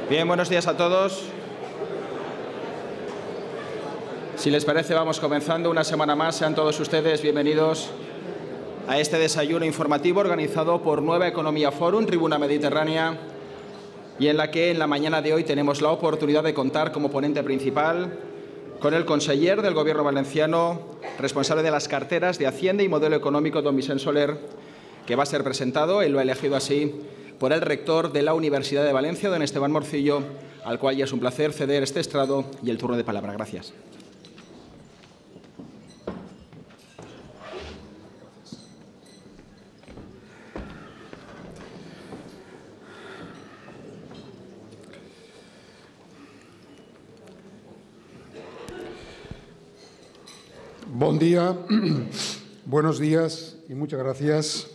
Bien, buenos días a todos. Si les parece, vamos comenzando una semana más. Sean todos ustedes bienvenidos a este desayuno informativo organizado por Nueva Economía Forum, Tribuna Mediterránea, y en la que en la mañana de hoy tenemos la oportunidad de contar como ponente principal con el conseller del Gobierno valenciano, responsable de las carteras de Hacienda y Modelo Económico, don Vicent Soler, que va a ser presentado, él lo ha elegido así, por el rector de la Universidad de Valencia, don Esteban Morcillo, al cual ya es un placer ceder este estrado y el turno de palabra. Gracias. Buen día, buenos días y muchas gracias.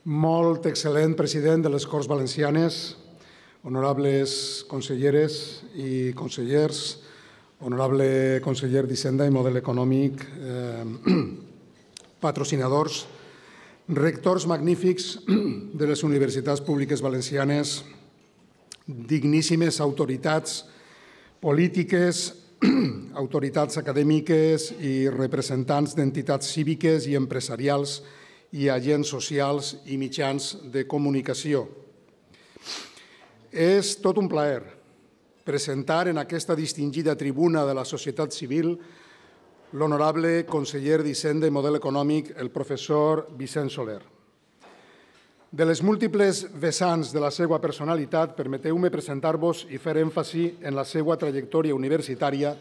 Molt excel·lent president de les Corts Valencianes, honorables conselleres i consellers, honorable conseller d'Hisenda i Model Econòmic, patrocinadors, rectors magnífics de les universitats públiques valencianes, digníssimes autoritats polítiques, autoritats acadèmiques i representants d'entitats cíviques i empresarials i agents socials i mitjans de comunicació. És tot un plaer presentar en aquesta distingida tribuna de la societat civil l'honorable conseller d'Hisenda i Model Econòmic, el professor Vicent Soler. De les múltiples vessants de la seva personalitat, permeteu-me presentar-vos i fer èmfasi en la seva trajectòria universitària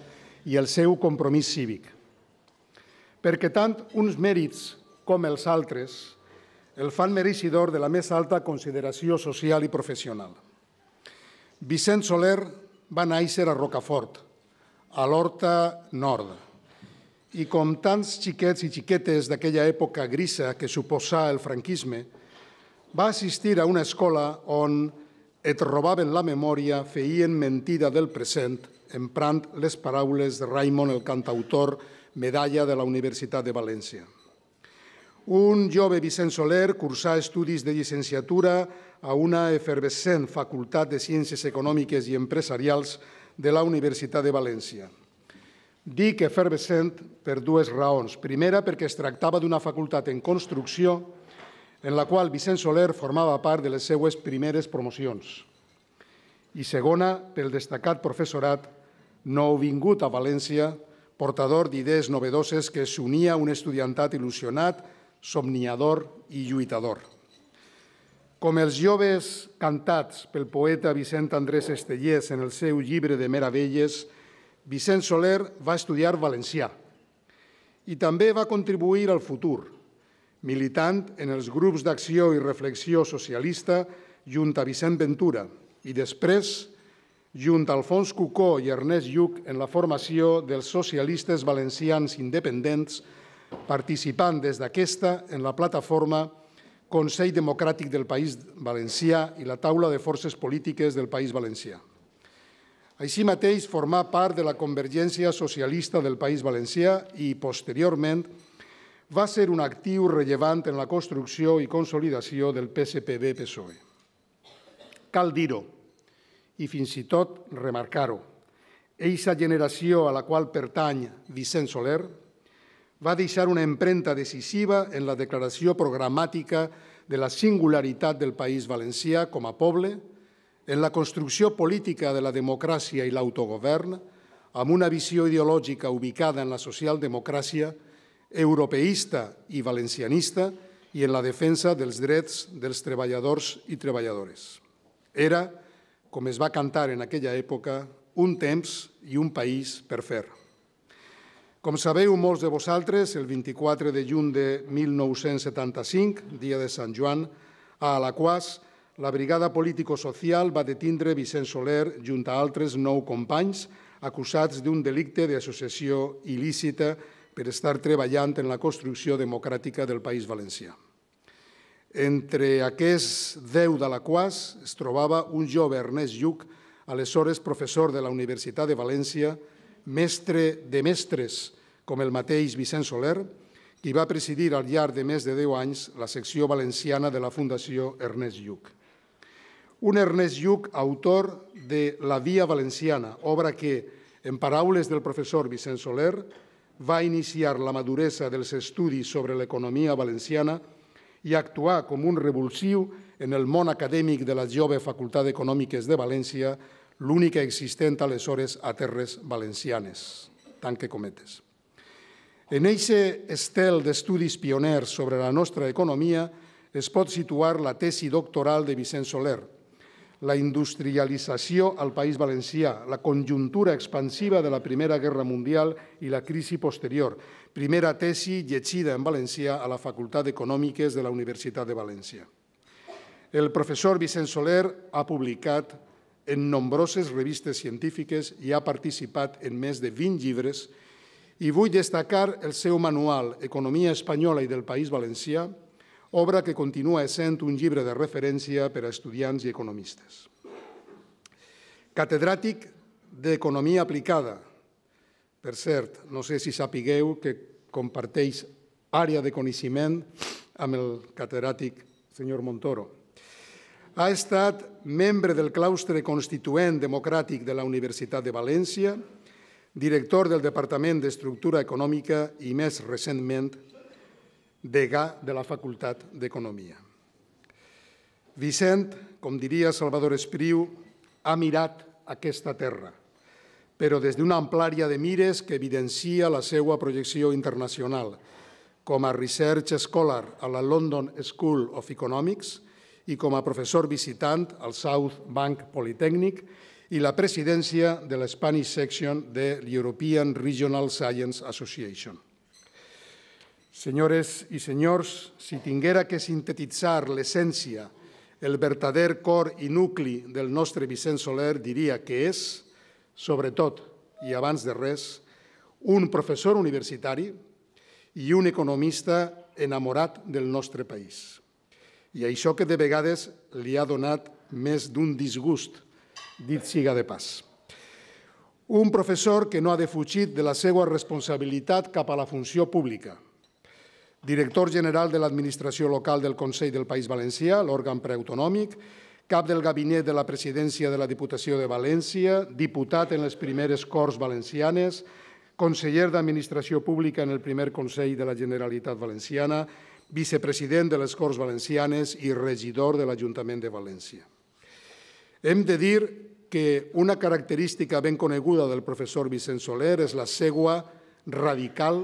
i el seu compromís cívic. Perquè tant uns mèrits com els altres el fan mereixedor de la més alta consideració social i professional. Vicent Soler va néixer a Rocafort, a l'Horta Nord, i com tants xiquets i xiquetes d'aquella època grisa que suposà el franquisme, va assistir a una escola on et robaven la memòria, feien mentida del present, emprant les paraules de Raimon, el cantautor, medalla de la Universitat de València. Un jove Vicent Soler cursà estudis de llicenciatura a una efervescent Facultat de Ciències Econòmiques i Empresarials de la Universitat de València. Dic efervescent per dues raons. Primera, perquè es tractava d'una facultat en construcció en la qual Vicent Soler formava part de les seues primeres promocions. I segona, pel destacat professorat nouvingut a València, portador d'idees novedoses que s'unia a un estudiantat il·lusionat, somniador i lluitador. Com els joves cantats pel poeta Vicent Andrés Estellés en el seu llibre de meravelles, Vicent Soler va estudiar valencià i també va contribuir al futur, militant en els grups d'acció i reflexió socialista junt a Vicent Ventura i després junt a Alfons Cucó i Ernest Lluch en la formació dels socialistes valencians independents, participant des d'aquesta en la plataforma Consell Democràtic del País Valencià i la taula de forces polítiques del País Valencià. Així mateix, formà part de la Convergència Socialista del País Valencià i, posteriorment, va ser un actiu rellevant en la construcció i consolidació del PSPV-PSOE. Cal dir-ho, i fins i tot remarcar-ho, eixa generació a la qual pertany Vicent Soler va deixar una empremta decisiva en la declaració programàtica de la singularitat del País Valencià com a poble, en la construcció política de la democràcia i l'autogovern, amb una visió ideològica ubicada en la socialdemocràcia, europeista i valencianista i en la defensa dels drets dels treballadors i treballadores. Era, com es va cantar en aquella època, un temps i un país per fer. Com sabeu molts de vosaltres, el 24 de juny de 1975, dia de Sant Joan, a Alaquàs, la brigada político-social va detindre Vicent Soler junt a altres 9 companys acusats d'un delicte d'associació il·lícita per estar treballant en la construcció democràtica del País Valencià. Entre aquests 10 d'Alaquàs es trobava un jove Ernest Lluch, aleshores professor de la Universitat de València, mestre de mestres com el mateix Vicent Soler, qui va presidir al llarg de més de 10 anys la secció valenciana de la Fundació Ernest Lluch. Un Ernest Lluch, autor de La Via Valenciana, obra que, en paraules del professor Vicent Soler, va iniciar la maduresa dels estudis sobre l'economia valenciana i actuar com un revulsiu en el món acadèmic de la jove Facultat d'Econòmiques de València, l'única existent aleshores a terres valencianes, tanque cometes. En eixe estel d'estudis pioners sobre la nostra economia es pot situar la tesi doctoral de Vicent Soler, la industrialització al País Valencià, la conjuntura expansiva de la Primera Guerra Mundial i la crisi posterior, primera tesi llegida en valencià a la Facultat d'Econòmiques de la Universitat de València. El professor Vicent Soler ha publicat en nombroses revistes científiques i ha participat en més de 20 llibres i vull destacar el seu manual Economia espanyola i del País Valencià, obra que continua essent un llibre de referència per a estudiants i economistes. Catedràtic d'Economia aplicada. Per cert, no sé si sapigueu que comparteix àrea de coneixement amb el catedràtic senyor Montoro. Ha estat membre del claustre constituent democràtic de la Universitat de València, director del Departament d'Estructura Econòmica i, més recentment, degà de la Facultat d'Economia. Vicent, com diria Salvador Espriu, ha mirat aquesta terra, però des d'una amplària de mires que evidencia la seva projecció internacional, com a Research Scholar a la London School of Economics i com a professor visitant al South Bank Polytechnic i la presidència de la Spanish Section de l'European Regional Science Association. Senyores i senyors, si tinguera que sintetitzar l'essència, el verdader cor i nucli del nostre Vicent Soler, diria que és, sobretot i abans de res, un professor universitari i un economista enamorat del nostre país. I això que de vegades li ha donat més d'un disgust, dit siga de pas. Un professor que no ha defugit de la seva responsabilitat cap a la funció pública, director general de l'Administració Local del Consell del País Valencià, l'òrgan preautonòmic, cap del gabinet de la presidència de la Diputació de València, diputat en les primeres Corts Valencianes, conseller d'Administració Pública en el primer Consell de la Generalitat Valenciana, vicepresident de les Corts Valencianes i regidor de l'Ajuntament de València. Hem de dir que una característica ben coneguda del professor Vicent Soler és la seva radical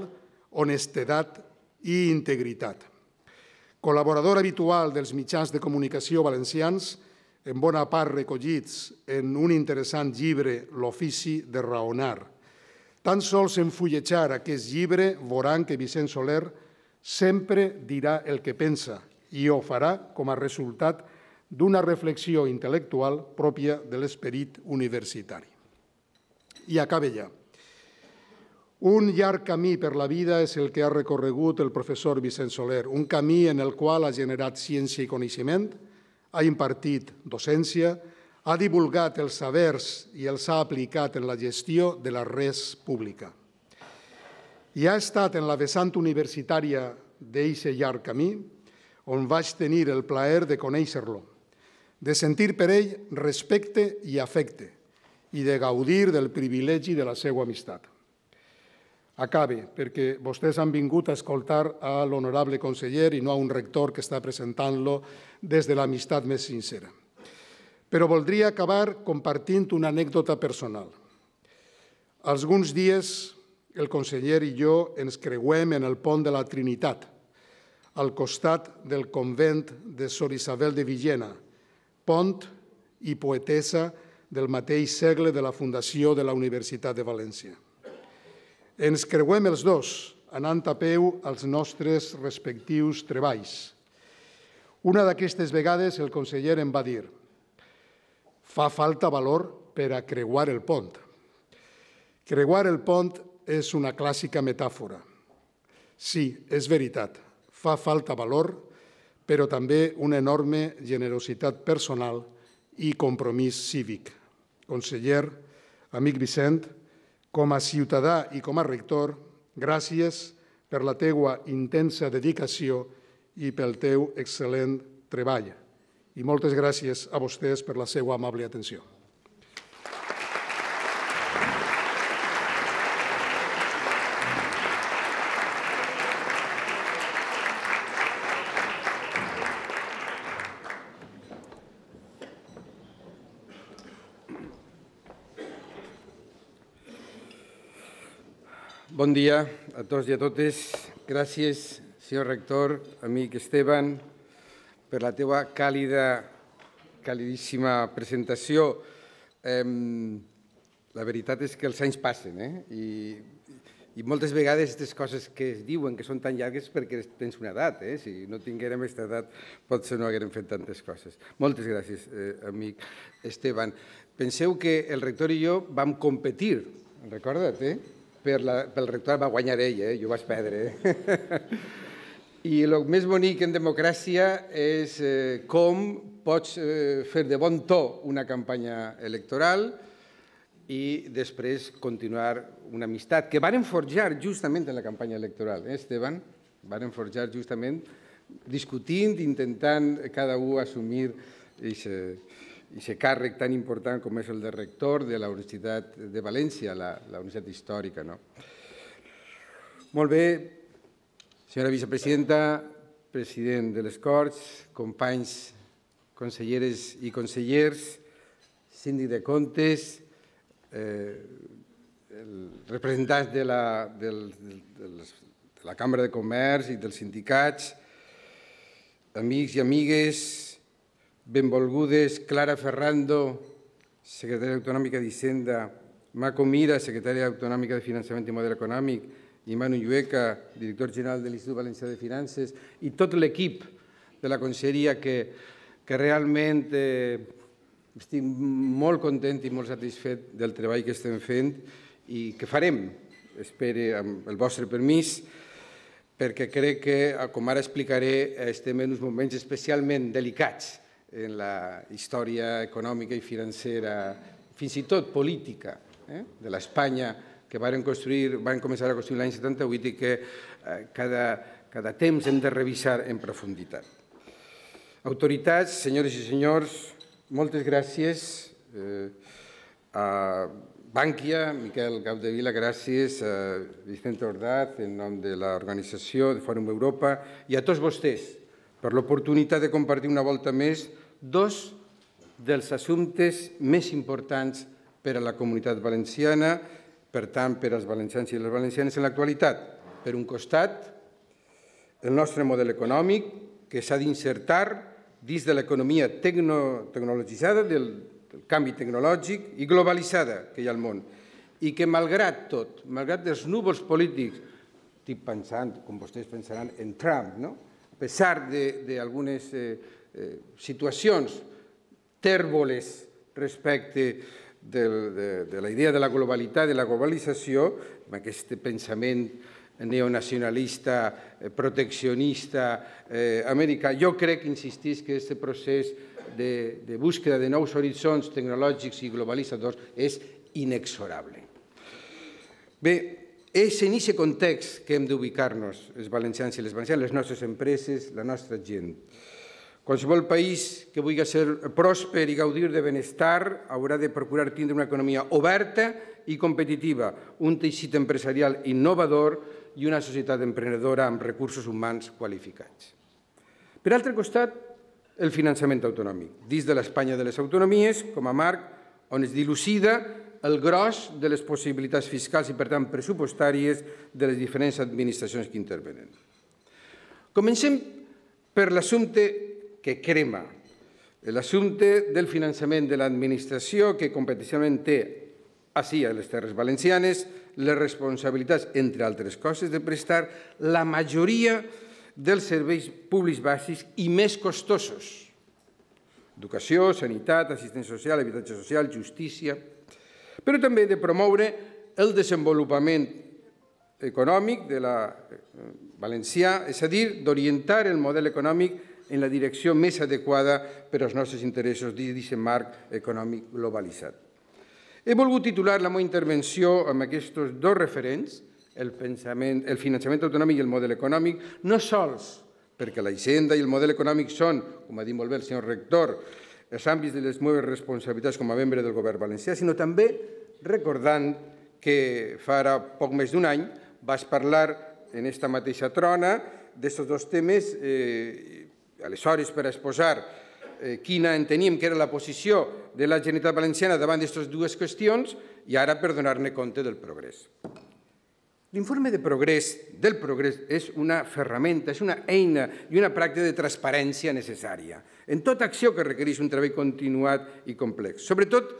honestedat i integritat. Col·laborador habitual dels mitjans de comunicació valencians, en bona part recollits en un interessant llibre, L'ofici de raonar. Tan sols en fulletjar aquest llibre veuran que Vicent Soler sempre dirà el que pensa i ho farà com a resultat d'una reflexió intel·lectual pròpia de l'esperit universitari. I acabe ja. Un llarg camí per la vida és el que ha recorregut el professor Vicent Soler, un camí en el qual ha generat ciència i coneixement, ha impartit docència, ha divulgat els sabers i els ha aplicat en la gestió de la res pública. I ha estat en la vessant universitària d'aquest llarg camí on vaig tenir el plaer de conèixer-lo, de sentir per ell respecte i afecte i de gaudir del privilegi de la seva amistat. Acabe, perquè vostès han vingut a escoltar a l'honorable conseller i no a un rector que està presentant-lo des de l'amistat més sincera. Però voldria acabar compartint una anècdota personal. Alguns dies el conseller i jo ens creuem en el pont de la Trinitat, al costat del convent de Sor Isabel de Villena, pont i poetessa del mateix segle de la fundació de la Universitat de València. Ens creuem els dos, anant a peu als nostres respectius treballs. Una d'aquestes vegades el conseller em va dir: fa falta valor per a creuar el pont. Creuar el pont és una clàssica metàfora. Sí, és veritat, fa falta valor, però també una enorme generositat personal i compromís cívic. Conseller, amic Vicent, com a ciutadà i com a rector, gràcies per la teua intensa dedicació i pel teu excel·lent treball. i moltes gràcies a vostès per la seva amable atenció. Bon dia a tots i a totes. Gràcies, senyor rector, amic Esteban, per la teva calidíssima presentació. La veritat és que els anys passen i moltes vegades aquestes coses que es diuen que són tan llargues perquè tens una edat. Si no tinguérem aquesta edat potser no haguérem fet tantes coses. Moltes gràcies, amic Esteban. Penseu que el rector i jo vam competir, recorda't, pel rectorat va guanyar ell, jo vaig perdre. I el més bonic en democràcia és com pots fer de bon to una campanya electoral i després continuar una amistat que varen forjar justament en la campanya electoral, Esteban? Varen forjar justament discutint, intentant cada un assumir aquest càrrec tan important com és el de rector de la Universitat de València, la Universitat Històrica. Molt bé, senyora vicepresidenta, president de les Corts, companys, conselleres i consellers, síndic de comptes, representants de la Cambra de Comerç i dels sindicats, amics i amigues, benvolgudes Clara Ferrando, secretària autonòmica d'Hisenda, Mako Mira, secretària autonòmica de Finançament i Model Econòmic, i Manu Llueca, director general de l'Institut Valencià de Finances, i tot l'equip de la conselleria que realment estic molt content i molt satisfet del treball que estem fent i que farem, espero, amb el vostre permís, perquè crec que, com ara explicaré, estem en uns moments especialment delicats en la història econòmica i financera, fins i tot política, de l'Espanya que van començar a construir l'any 78 i que cada temps hem de revisar en profunditat. Autoritats, senyores i senyors, moltes gràcies. A Bankia, Miquel Capdevila, gràcies. A Vicente Ordaz, en nom de l'organització de Fòrum Europa, i a tots vostès, per l'oportunitat de compartir una volta més dos dels assumptes més importants per a la comunitat valenciana, per tant, per als valencians i les valencianes en l'actualitat. Per un costat, el nostre model econòmic, que s'ha d'insertar dins de l'economia tecnologitzada, del canvi tecnològic i globalitzada que hi ha al món, i que, malgrat tot, malgrat els núvols polítics, estic pensant, com vostès pensaran, en Trump, a pesar d'algunes situacions tèrboles respecte de la idea de la globalitat, de la globalització, amb aquest pensament neonacionalista, proteccionista americà, jo crec, insistís, que aquest procés de búsqueda de nous horitzons tecnològics i globalitzadors és inexorable. Bé, és en aquest context que hem d'ubicar-nos, els valencians i les valencianes, les nostres empreses, la nostra gent. Qualsevol país que vulgui ser pròsper i gaudir de benestar haurà de procurar tindre una economia oberta i competitiva, un teixit empresarial innovador i una societat emprenedora amb recursos humans qualificats. Per altre costat, el finançament autonòmic, dins de l'Espanya de les autonomies, com a marc on es dilucida el gros de les possibilitats fiscals i, per tant, pressupostàries de les diferents administracions que intervenen. Comencem per l'assumpte que crema, l'assumpte del finançament de l'administració que competencialment té ací a les Terres Valencianes les responsabilitats, entre altres coses, de prestar la majoria dels serveis públics bàsics i més costosos: educació, sanitat, assistència social, habitatge social, justícia, però també de promoure el desenvolupament econòmic de la valencià, és a dir, d'orientar el model econòmic en la direcció més adequada per als nostres interessos dins d'aquest marc econòmic globalitzat. He volgut titular la meva intervenció amb aquests dos referents, el finançament autonòmic i el model econòmic, no sols perquè la hisenda i el model econòmic són, com ha dit molt bé el senyor rector, els àmbits de les meves responsabilitats com a membre del govern valencià, sinó també recordant que fa ara poc més d'un any vaig parlar en esta mateixa trona d'aquests dos temes, aleshores per exposar quina enteníem que era la posició de la Generalitat Valenciana davant d'aquestes dues qüestions i ara per donar-ne compte del progrés. L'informe del progrés és una ferramenta, és una eina i una pràctica de transparència necessària en tota acció que requereix un treball continuat i complex, sobretot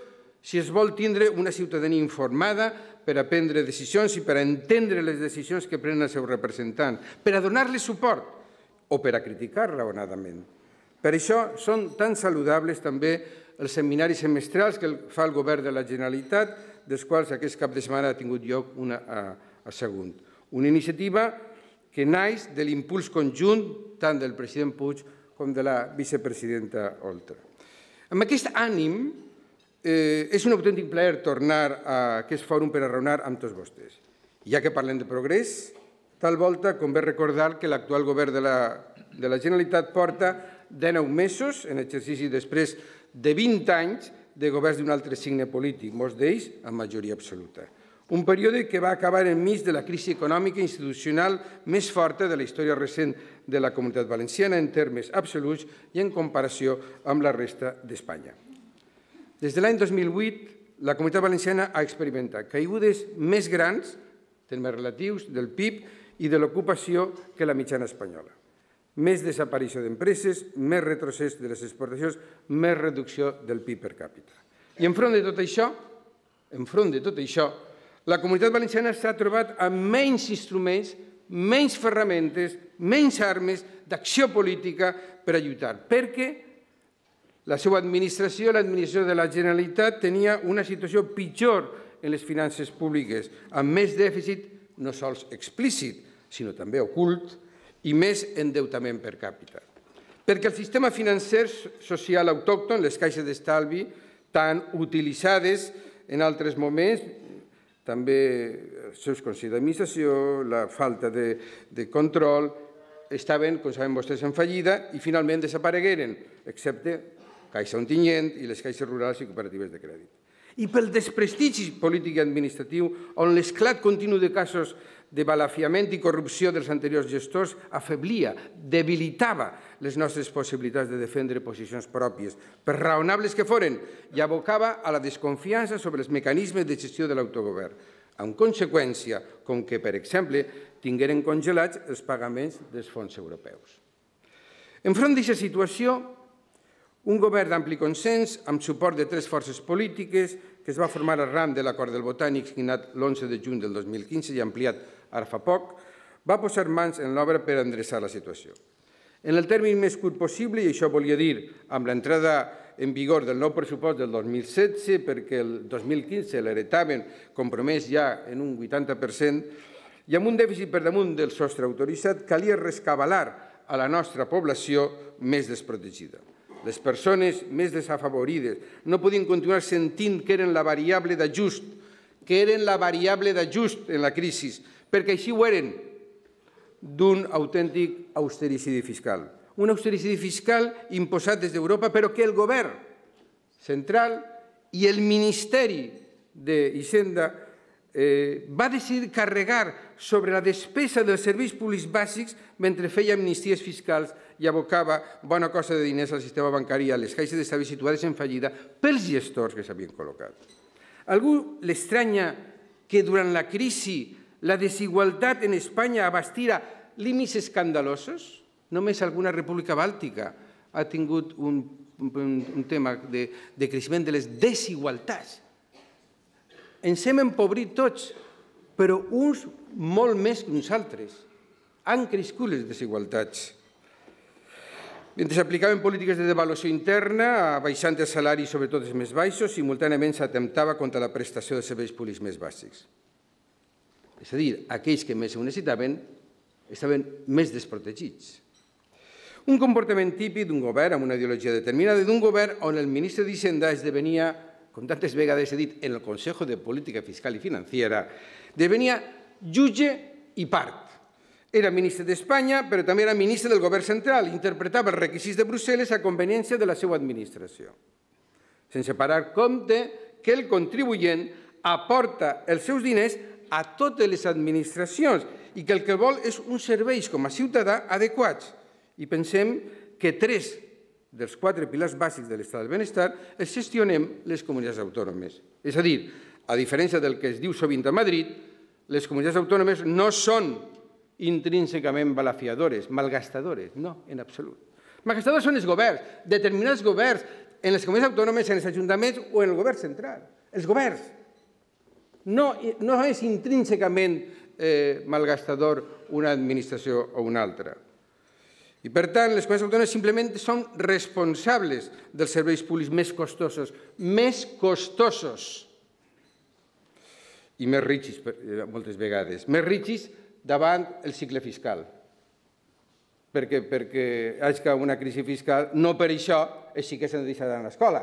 si es vol tindre una ciutadania informada per a prendre decisions i per a entendre les decisions que prenen els seus representants, per a donar-li suport o per a criticar raonadament. Per això són tan saludables també els seminaris semestrals que fa el govern de la Generalitat, dels quals aquest cap de setmana ha tingut lloc una a Sagunt. Una iniciativa que naix de l'impuls conjunt tant del president Puig com de la vicepresidenta Oltra. Amb aquest ànim, és un autèntic plaer tornar a aquest fòrum per a raonar amb tots vostès. Ja que parlem de progrés, tal volta convé recordar que l'actual govern de la Generalitat porta 19 mesos en exercici després de 20 anys de governs d'un altre signe polític, molts d'ells amb majoria absoluta. Un període que va acabar enmig de la crisi econòmica i institucional més forta de la història recent de la Comunitat Valenciana en termes absoluts i en comparació amb la resta d'Espanya. Des de l'any 2008, la Comunitat Valenciana ha experimentat caigudes més grans, termes relatius, del PIB i de l'ocupació que la mitjana espanyola. Més desaparició d'empreses, més retrocés de les exportacions, més reducció del PIB per càpita. I enfront de tot això, la Comunitat Valenciana s'ha trobat amb menys instruments, menys ferramentes, menys armes d'acció política per a lluitar, perquè la seva administració, l'administració de la Generalitat, tenia una situació pitjor en les finances públiques, amb més dèficit, no sols explícit, sinó també ocult, i més endeutament per càpita. Perquè el sistema financer social autòcton, les caixes d'estalvi, tan utilitzades en altres moments, també els seus consells d'administració, la falta de control, estaven, com saben vostès, en fallida i finalment desaparegueren, excepte Caixa Ontinyent i les caixes rurals i cooperatives de crèdit. I pel desprestigi polític i administratiu, on l'esclat continu de casos de balafiament i corrupció dels anteriors gestors afeblia, debilitava les nostres possibilitats de defendre posicions pròpies, per raonables que foren, i abocava a la desconfiança sobre els mecanismes de gestió de l'autogovern, amb conseqüència com que, per exemple, tingueren congelats els pagaments dels fons europeus. Enfront d'aquesta situació, un govern d'ampli consens, amb suport de 3 forces polítiques, que es va formar arran de l'acord del Botànic signat l'11 de juny del 2015 i ampliat ara fa poc, va posar mans en l'obra per endreçar la situació. En el termini més curt possible, i això volia dir amb l'entrada en vigor del nou pressupost del 2016, perquè el 2015 l'heretaven compromès ja en un 80%, i amb un dèficit per damunt del sostre autoritzat, calia rescabalar a la nostra població més desprotegida. Les persones més desafavorides no podien continuar sentint que eren la variable d'ajust, en la crisi, perquè així ho eren, d'un autèntic austericidi fiscal. Un austericidi fiscal imposat des d'Europa, però que el govern central i el Ministeri d'Hisenda va decidir carregar sobre la despesa dels serveis públics bàsics mentre feia amnisties fiscals i abocava bona cosa de diners al sistema bancari i a les caixes d'estalvi situades en fallida pels gestors que s'havien col·locat. A algú l'estranya que durant la crisi la desigualtat en Espanya abastira límits escandalosos? Només alguna república bàltica ha tingut un tema de creixement de les desigualtats. Ens hem empobrit tots, però uns molt més que uns altres. Han crescut les desigualtats. Mentre s'aplicaven polítiques de devaluació interna, abaixant els salaris, sobretot els més baixos, simultàniament s'atemptava contra la prestació de serveis públics més bàsics. És a dir, aquells que més ho necessitaven estaven més desprotegits. Un comportament típic d'un govern amb una ideologia determinada, d'un govern on el ministre d'Hisenda esdevenia, com tantes vegades he dit, en el Consejo de Política Fiscal i Financiera, devenia jutge i part. Era ministre d'Espanya, però també era ministre del govern central. Interpretava els requisits de Brussel·les a conveniència de la seva administració, sense parar compte que el contribuent aporta els seus diners a totes les administracions i que el que vol és uns serveis com a ciutadà adequats. I pensem que 3 dels 4 pilars bàsics de l'estat del benestar els gestionem les comunitats autònomes. És a dir, a diferència del que es diu sovint a Madrid, les comunitats autònomes no són intrínsecament balafiadores, malgastadores, no, en absolut. Malgastadors són els governs, determinats governs, en les comunitats autònomes, en els ajuntaments o en el govern central. Els governs. No és intrínsecament malgastador una administració o una altra. I, per tant, les comunitats autònomes simplement són responsables dels serveis públics més costosos i més rígids, moltes vegades, més rígids davant el cicle fiscal. Perquè hi hagi una crisi fiscal, no per això els xiquets s'han de deixar d'anar a l'escola,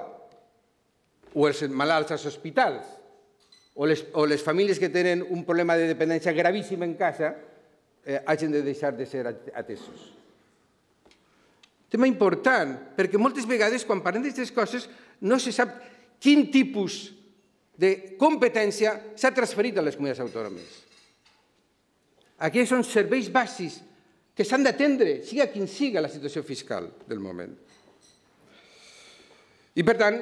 o els malalts als hospitals, o les famílies que tenen un problema de dependència gravíssim en casa hagin de deixar de ser atesos. Tema important, perquè moltes vegades quan parlem d'aquestes coses no se sap quin tipus de competència s'ha transferit a les comunitats autònomes. Aquests són serveis bàsics que s'han d'atendre, sigui quin sigui la situació fiscal del moment. I, per tant,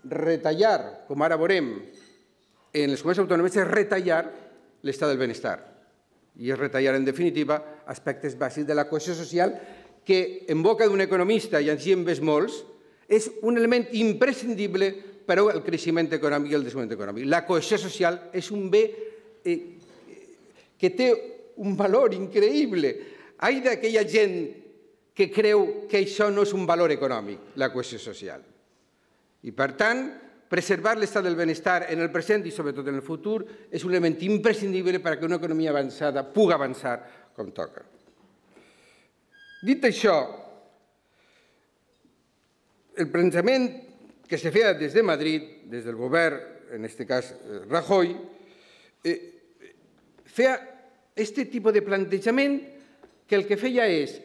retallar, com ara veurem, en les comunitats autònomes és retallar l'estat del benestar. I és retallar, en definitiva, aspectes bàsics de la cohesió social que, en boca d'un economista, i així en ves molts, és un element imprescindible per al creixement econòmic i el desenvolupament econòmic. La cohesió social és un bé que té un valor increïble. Ai d'aquella gent que creu que això no és un valor econòmic, la cohesió social. I, per tant, preservar l'estat del benestar en el present i sobretot en el futur és un element imprescindible perquè una economia avançada pugui avançar com toca. Dit això, el pensament que se feia des de Madrid, des del govern, en aquest cas Rajoy, feia aquest tipus de plantejament que el que feia és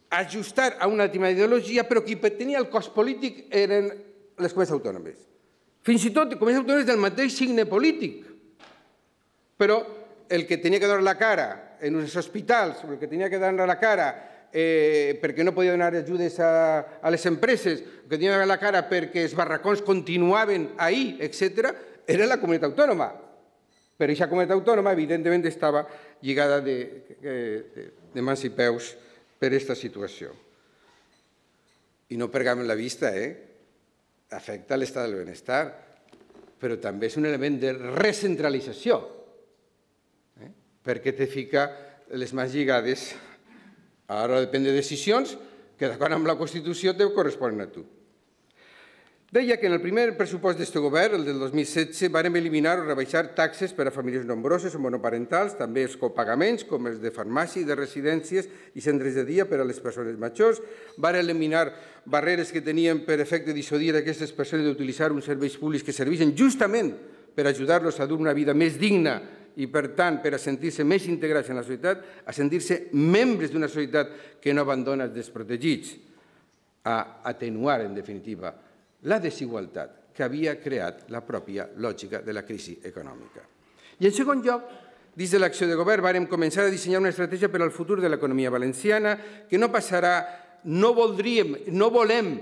ajustar a una última ideologia, però qui tenia el cost polític eren les comunitats autònomes. Fins i tot comunitats autònomes del mateix signe polític. Però el que tenia que donar la cara en uns hospitals, o el que tenia que donar la cara perquè no podia donar ajudes a les empreses, el que tenia que donar la cara perquè els barracons continuaven ahir, etc., era la comunitat autònoma. Però aquesta comunitat autònoma, evidentment, estava lligada de mans i peus per aquesta situació. I no perdem la vista, afecta l'estat del benestar, però també és un element de recentralització, perquè te fica les mans lligades a l'hora de prendre decisions que, d'acord amb la Constitució, te corresponen a tu. Deia que en el primer pressupost d'aquest govern, el del 2016, vàrem eliminar o rebaixar taxes per a famílies nombroses o monoparentals, també els copagaments, com els de farmàcia i de residències i centres de dia per a les persones majors. Vàrem eliminar barreres que tenien per efecte dissuadir aquestes persones d'utilitzar uns serveis públics que serveixen justament per ajudar-los a dur una vida més digna i, per tant, per a sentir-se més integrats en la societat, a sentir-se membres d'una societat que no abandona els desprotegits, a atenuar, en definitiva, la desigualtat que havia creat la pròpia lògica de la crisi econòmica. I, en segon lloc, dins de l'acció de govern, vàrem començar a dissenyar una estratègia per al futur de l'economia valenciana que no volem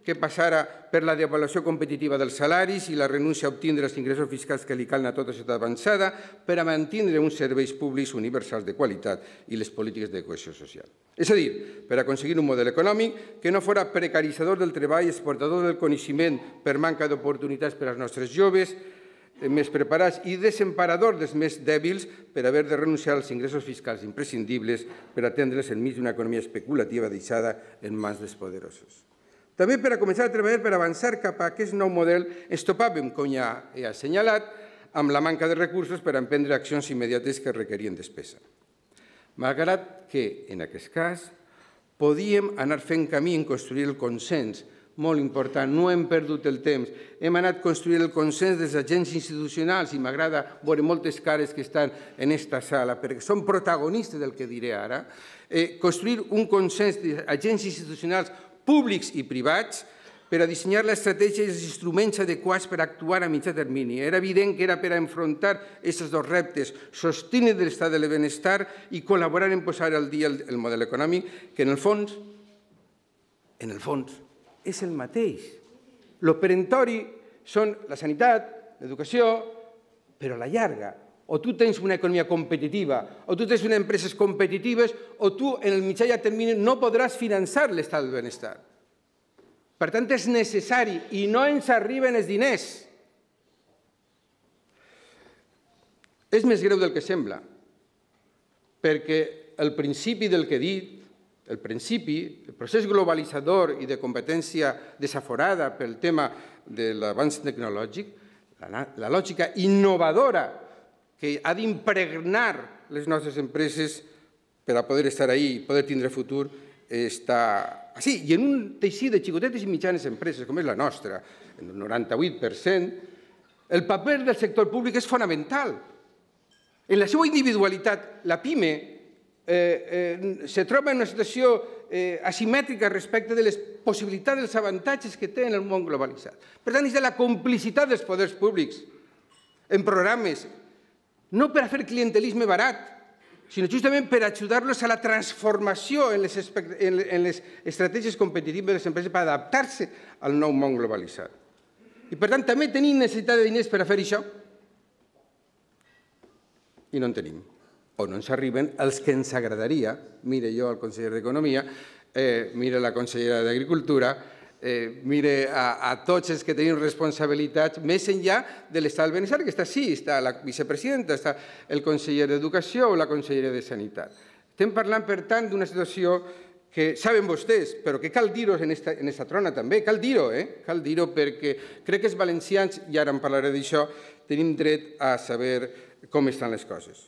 que passara per la devaluació competitiva dels salaris i la renúncia a obtindre els ingressos fiscals que li calen a tota ciutat avançada per a mantenir uns serveis públics universals de qualitat i les polítiques de cohesió social. És a dir, per aconseguir un model econòmic que no fos precaritzador del treball, exportador del coneixement per manca d'oportunitats per als nostres joves, més preparats i desemparador dels més dèbils per haver de renunciar als ingressos fiscals imprescindibles per atendre's enmig d'una economia especulativa deixada en mans dels poderosos. També per a començar a treballar per avançar cap a aquest nou model ens topàvem, com ja he assenyalat, amb la manca de recursos per a emprendre accions immediates que requerien despesa. Malgrat que, en aquest cas, podíem anar fent camí en construir el consens molt important, no hem perdut el temps. Hem anat construint el consens dels agents institucionals i m'agrada veure moltes cares que estan en aquesta sala perquè són protagonistes del que diré ara. Construir un consens d'agents institucionals públics i privats per a dissenyar l'estratègia i els instruments adequats per actuar a mitjà termini. Era evident que era per a enfrontar aquests dos reptes, sostenir l'estat del benestar i col·laborar en posar al dia el model econòmic, que en el fons, és el mateix. Lo perentori són la sanitat, l'educació, però a la llarga. O tu tens una economia competitiva, o tu tens unes empreses competitives, o tu en el mitjà i a termini no podràs finançar l'estat del benestar. Per tant, és necessari i no ens arriben els diners. És més greu del que sembla, perquè el principi del que he dit, el procés globalitzador i de competència desaforada pel tema de l'avanç tecnològic, la lògica innovadora que ha d'impregnar les nostres empreses per a poder estar ahí i poder tindre futur, està així. I en un teixit de xicotetes i mitjanes empreses, com és la nostra, el 98%, el paper del sector públic és fonamental. En la seva individualitat, la PIME se troba en una situació asimètrica respecte de les possibilitats, dels avantatges que té en el món globalitzat. Per tant, és de la complicitat dels poders públics en programes, no per a fer clientelisme barat, sinó justament per ajudar-los a la transformació en les estratègies competitives de les empreses per adaptar-se al nou món globalitzat. I, per tant, també tenim necessitat de diners per a fer això i no en tenim. O no ens arriben els que ens agradaria. Mire jo al conseller d'Economia, mire la consellera d'Agricultura, mire a tots els que tenim responsabilitats més enllà de l'estat del benestar, que està sí, està la vicepresidenta, està el conseller d'Educació o la consellera de Sanitat. Estem parlant, per tant, d'una situació que saben vostès, però que cal dir-ho en aquesta trona també, cal dir-ho perquè crec que els valencians, i ara en parlaré d'això, tenim dret a saber com estan les coses.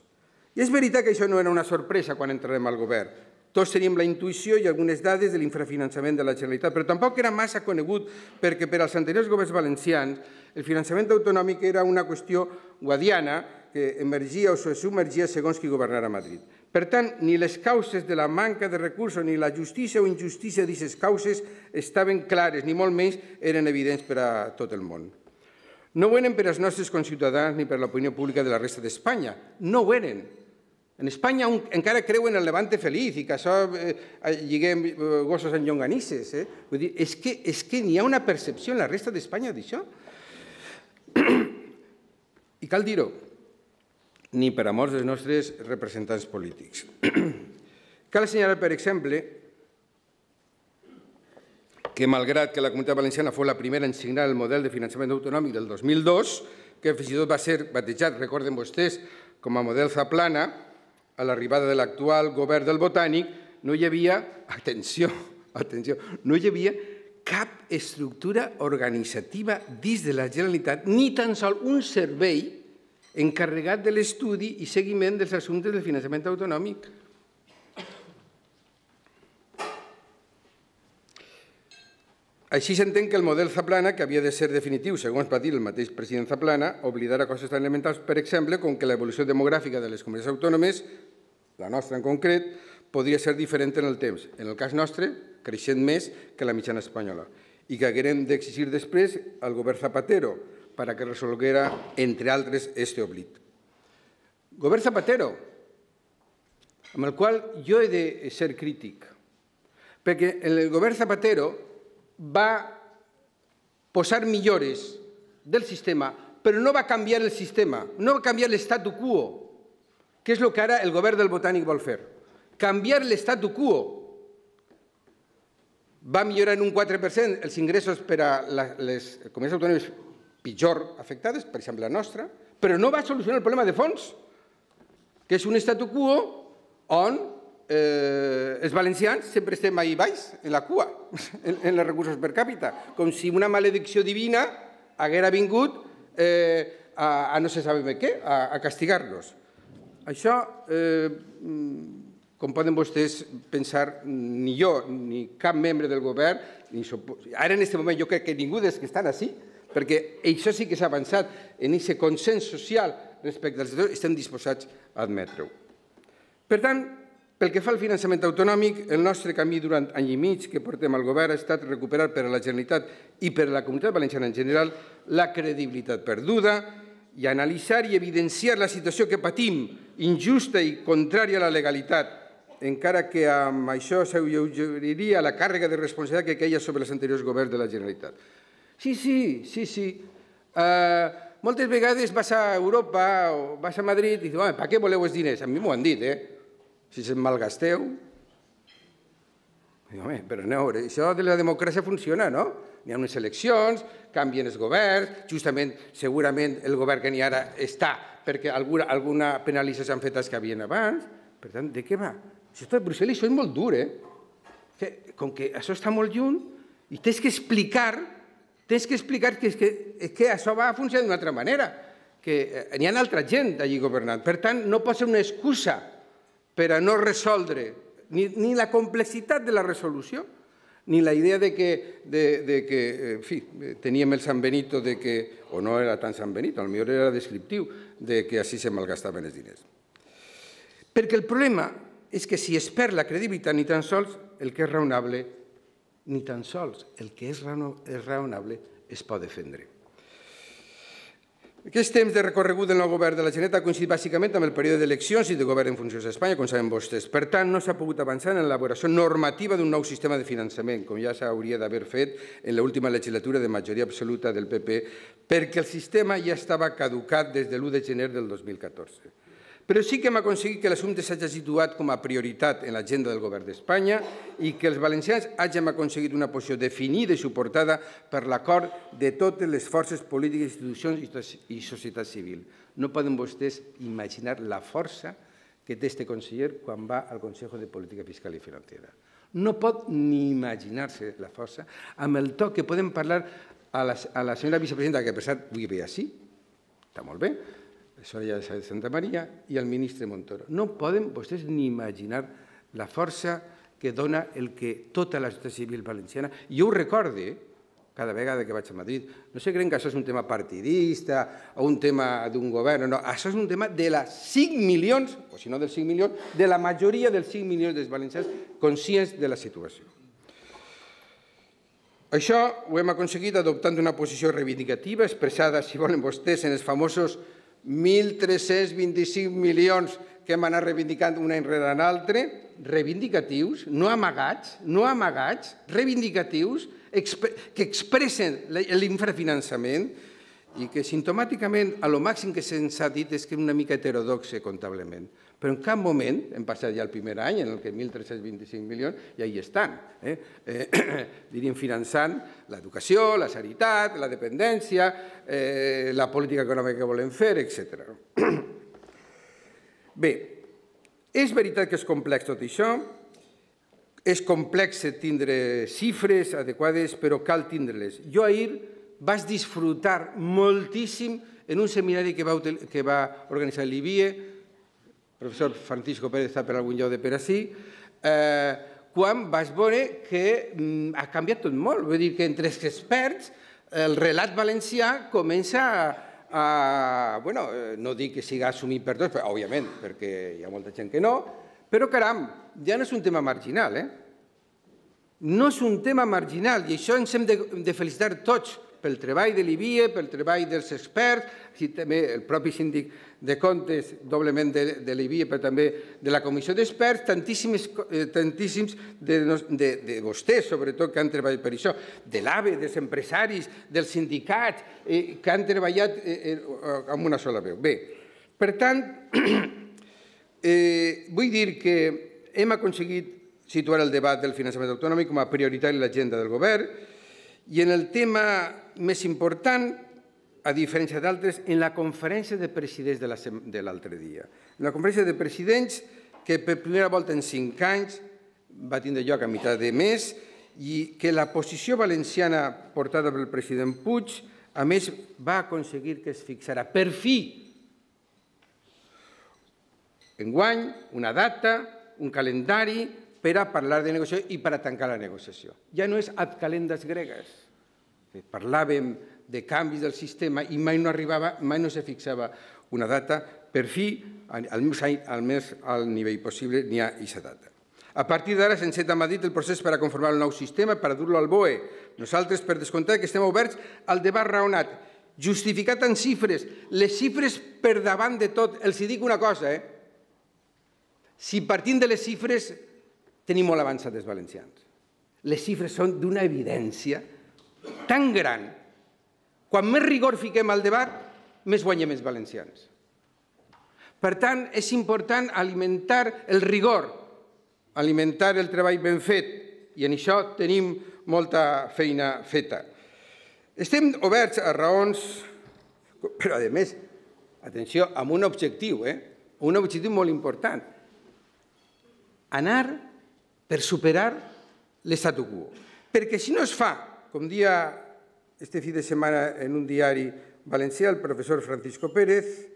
I és veritat que això no era una sorpresa quan entrarem al govern. Tots teníem la intuïció i algunes dades de l'infrafinançament de la Generalitat, però tampoc era massa conegut perquè per als anteriors governs valencians el finançament autonòmic era una qüestió guadiana que emergia o se submergia segons qui governara a Madrid. Per tant, ni les causes de la manca de recursos ni la justícia o injustícia d'aquestes causes estaven clares, ni molt menys eren evidents per a tot el món. No ho eren per als nostres conciutadans ni per l'opinió pública de la resta d'Espanya. No ho eren. En Espanya encara creuen en el Levante feliç i que això lliguem gossos en llonganisses. Vull dir, és que n'hi ha una percepció en la resta d'Espanya d'això. I cal dir-ho, ni per a molts dels nostres representants polítics. Cal assenyalar, per exemple, que malgrat que la Comunitat Valenciana fou la primera en signar el model de finançament autonòmic del 2002, que fins i tot va ser batejat, recorden vostès, com a model Zaplana, a l'arribada de l'actual govern del Botànic, no hi havia, atenció, no hi havia cap estructura organitzativa dins de la Generalitat, ni tan sols un servei encarregat de l'estudi i seguiment dels assumptes del finançament autonòmic. Així s'entén que el model Zaplana, que havia de ser definitiu, segons va dir el mateix president Zaplana, oblidara coses tan elementals, per exemple, com que l'evolució demogràfica de les comunitats autònomes, la nostra en concret, podria ser diferent en el temps. En el cas nostre, creixent més que la mitjana espanyola. I que haguérem d'exigir després al govern Zapatero perquè resolguera, entre altres, este oblit. Govern Zapatero, amb el qual jo he de ser crític, perquè el govern Zapatero va posar millores del sistema, però no va canviar el sistema, no va canviar l'statu quo, que és el que ara el govern del Botànic vol fer. Canviar l'statu quo. Va millorar en un 4% els ingressos per a les comunitats autònomes pitjor afectades, per exemple la nostra, però no va solucionar el problema de fons, que és un statu quo on els valencians sempre estem ahí baix, en la cua, en els recursos per càpita, com si una maledicció divina haguera vingut a no se sabe què, a castigar-los. Això com poden vostès pensar, ni jo ni cap membre del govern, ara en aquest moment jo crec que ningú dels que estan així, perquè això sí que s'ha avançat en aquest consens social respecte al sector, estem disposats a admetre-ho. Per tant, pel que fa al finançament autonòmic, el nostre camí durant any i mig que portem al govern ha estat recuperar per a la Generalitat i per a la Comunitat Valenciana en general la credibilitat perduda i analitzar i evidenciar la situació que patim, injusta i contrària a la legalitat, encara que amb això s'allaugeriria la càrrega de responsabilitat que queia sobre els anteriors governs de la Generalitat. Sí. Moltes vegades vas a Europa o vas a Madrid i dius, per què voleu els diners? A mi m'ho han dit, si se'n malgasteu. Home, però no, això de la democràcia funciona, no? N'hi ha unes eleccions, canvien els governs, justament, segurament, el govern que n'hi ara està perquè alguna penalització s'han fet els que havien abans. Per tant, de què va? Això està a Brussel·les, això és molt dur, Com que això està molt lluny i tens que explicar que això va funcionar d'una altra manera, que n'hi ha altra gent allí governant. Per tant, no pot ser una excusa per a no resoldre ni la complexitat de la resolució, ni la idea de que en fi, teníem el San Benito, o no era tan San Benito, potser era descriptiu, de que així se malgastaven els diners. Perquè el problema és que si es perd la credibilitat, ni tan sols el que és raonable, ni tan sols el que és raonable es pot defendre. Aquest temps de recorregut del nou govern de la Generalitat ha coincidit bàsicament amb el període d'eleccions i de govern en funcions a Espanya, com saben vostès. Per tant, no s'ha pogut avançar en l'elaboració normativa d'un nou sistema de finançament, com ja s'hauria d'haver fet en l'última legislatura de majoria absoluta del PP, perquè el sistema ja estava caducat des de l'1 de gener del 2014. Però sí que hem aconseguit que l'assumpte s'hagi situat com a prioritat en l'agenda del govern d'Espanya i que els valencians hàgim aconseguit una posició definida i suportada per l'acord de totes les forces polítiques, institucions i societat civil. No poden vostès imaginar la força que té este conseller quan va al Consejo de Política Fiscal i Financiera. No pot ni imaginar-se la força amb el to que podem parlar a la senyora vicepresidenta, que per cert vull veure així, està molt bé, Soraya de Santa Maria, i al ministre Montoro. No poden vostès ni imaginar la força que dona el que tota la societat civil valenciana... Jo ho recorde cada vegada que vaig a Madrid. No se creuen que això és un tema partidista o un tema d'un govern. No, això és un tema de les 5 milions, o si no dels 5 milions, de la majoria dels 5 milions dels valencians conscients de la situació. Això ho hem aconseguit adoptant una posició reivindicativa expressada, si volen vostès, en els famosos 1.325 milions que hem anat reivindicant un any rere l'altre, reivindicatius, no amagats, reivindicatius, que expressen l'infrafinançament i que simptomàticament a lo màxim que se'ns ha dit és que és una mica heterodoxe comptablement. Però en cap moment, hem passat ja el primer any en què 1.325 milions ja hi estan, diríem finançant l'educació, la sanitat, la dependència, la política econòmica que volem fer, etc. Bé, és veritat que és complex tot això, és complex tindre xifres adequades, però cal tindre-les. Jo ahir vaig disfrutar moltíssim en un seminari que va organitzar l'IBIE, el professor Francisco Pérez està per algun lloc de per ací, quan vaig veure que ha canviat tot molt. Vull dir que entre els experts el relat valencià comença a... no dic que sigui assumit per tots, òbviament, perquè hi ha molta gent que no, però caram, ja no és un tema marginal, No és un tema marginal i això ens hem de felicitar tots pel treball de l'IBIE, pel treball dels experts, i també el propi síndic de comptes, doblement de l'IBIE, però també de la comissió d'experts, tantíssims de vostès, sobretot, que han treballat per això, de l'AVE, dels empresaris, dels sindicats, que han treballat amb una sola veu. Bé, per tant, vull dir que hem aconseguit situar el debat del finançament autonòmic com a prioritari en l'agenda del govern i en el tema més important, a diferència d'altres, en la conferència de presidents de l'altre dia. En la conferència de presidents, que per primera volta en 5 anys va tindre lloc a meitat de mes i que la posició valenciana portada pel president Puig, a més, va aconseguir que es fixara per fi enguany una data, un calendari per a parlar de negociació i per a tancar la negociació. Ja no és ad calendas gregues. Parlàvem de canvis del sistema i mai no arribava, mai no se fixava una data. Per fi, almenys al nivell possible, n'hi ha aquesta data. A partir d'ara s'enceta a Madrid el procés per a conformar el nou sistema, per a dur-lo al BOE. Nosaltres, per descomptat, que estem oberts al debat raonat, justificat en xifres, les xifres per davant de tot. Els dic una cosa, si partint de les xifres tenim molt avançat els valencians. Les xifres són d'una evidència tan gran. Quan més rigor fiquem al debat, més guanyem els valencians. Per tant, és important alimentar el rigor, alimentar el treball ben fet, i en això tenim molta feina feta. Estem oberts a raons, però a més, atenció, amb un objectiu molt important. Anar per superar l'statu quo. Perquè si no es fa, com dia este fi de setmana en un diari valencià, el professor Francisco Pérez,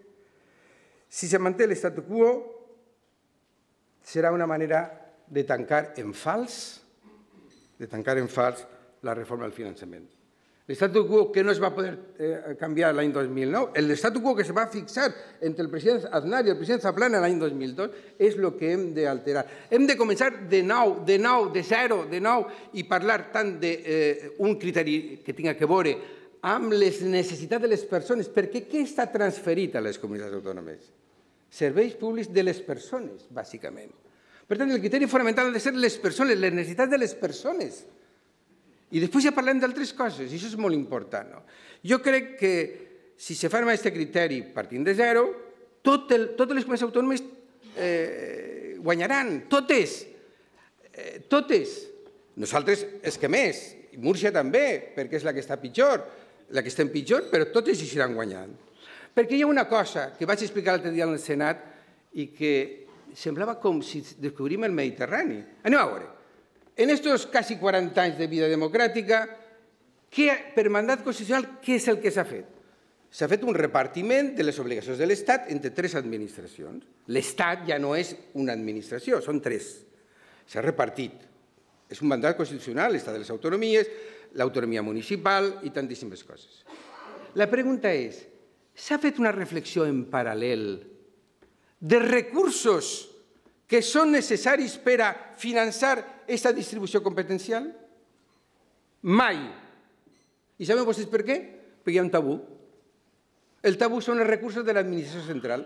si se manté l'statu quo, serà una manera de tancar en fals la reforma del finançament. L'statu quo que no es va poder canviar l'any 2009, l'statu quo que se va fixar entre el president Aznar i el president Zaplana l'any 2002, és el que hem d'alterar. Hem de començar de nou, de zero, i parlar tant d'un criteri que tinga que veure amb les necessitats de les persones, perquè què està transferit a les comunitats autònomes? Serveis públics de les persones, bàsicament. Per tant, el criteri fonamental ha de ser les persones, les necessitats de les persones. I després ja parlem d'altres coses, i això és molt important. Jo crec que si se fa amb aquest criteri partint de zero, totes les comunitats autònomes guanyaran, totes. Nosaltres és que més, i Múrcia també, perquè és la que està pitjor, la que estem pitjor, però totes hi seran guanyant. Perquè hi ha una cosa que vaig explicar l'altre dia al Senat i que semblava com si descobrim el Mediterrani. Anem a veure. En estos quasi 40 anys de vida democràtica, per mandat constitucional, què és el que s'ha fet? S'ha fet un repartiment de les obligacions de l'Estat entre 3 administracions. L'Estat ja no és una administració, són 3. S'ha repartit. És un mandat constitucional, l'Estat de les autonomies, l'autonomia municipal i tantíssimes coses. La pregunta és, s'ha fet una reflexió en paral·lel de recursos que són necessaris per a finançar aquesta distribució competencial? Mai. I saben vostès per què? Perquè hi ha un tabú. El tabú són els recursos de l'administració central.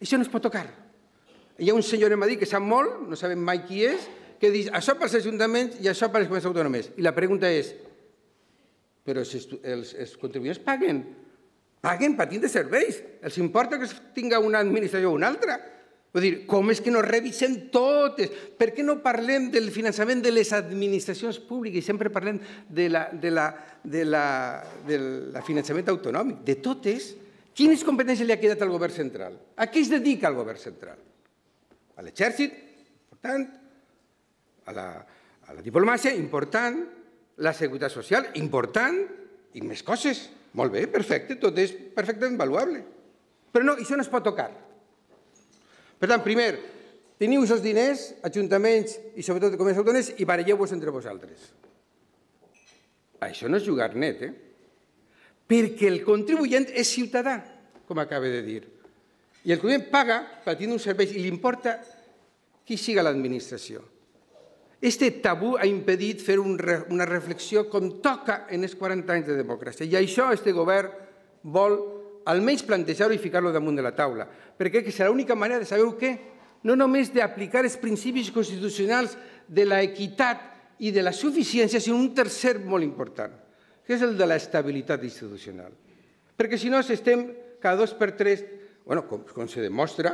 Això no es pot tocar. Hi ha un senyor en Madrid que sap molt, no sabem mai qui és, que diu això pels ajuntaments i això per les comunitats autònomes. I la pregunta és, però els contribuents paguen patint de serveis. Els importa que es tinga una administració o una altra. Vull dir, com és que no revisem totes? Per què no parlem del finançament de les administracions públiques i sempre parlem del finançament autonòmic? De totes, quines competències li ha quedat al govern central? A què es dedica el govern central? A l'exèrcit, important, a la diplomàcia, important, la seguretat social, important, i més coses. Molt bé, perfecte, tot és perfectament valuable. Però no, això no es pot tocar. Per tant, primer, teniu aquests diners, ajuntaments i sobretot comunitats autònomes, i baralleu-vos entre vosaltres. Això no és jugar net, perquè el contribuent és ciutadà, com acaba de dir. I el contribuent paga patint un servei i li importa qui siga l'administració. Este tabú ha impedit fer una reflexió com toca en els 40 anys de democràcia. I això este govern vol almenys plantejar-ho i ficar-lo damunt de la taula, perquè serà l'única manera de saber què? No només d'aplicar els principis constitucionals de l'equitat i de la suficiència, sinó un tercer molt important, que és el de l'estabilitat institucional. Perquè si no estem cada 2 per 3, com se demostra,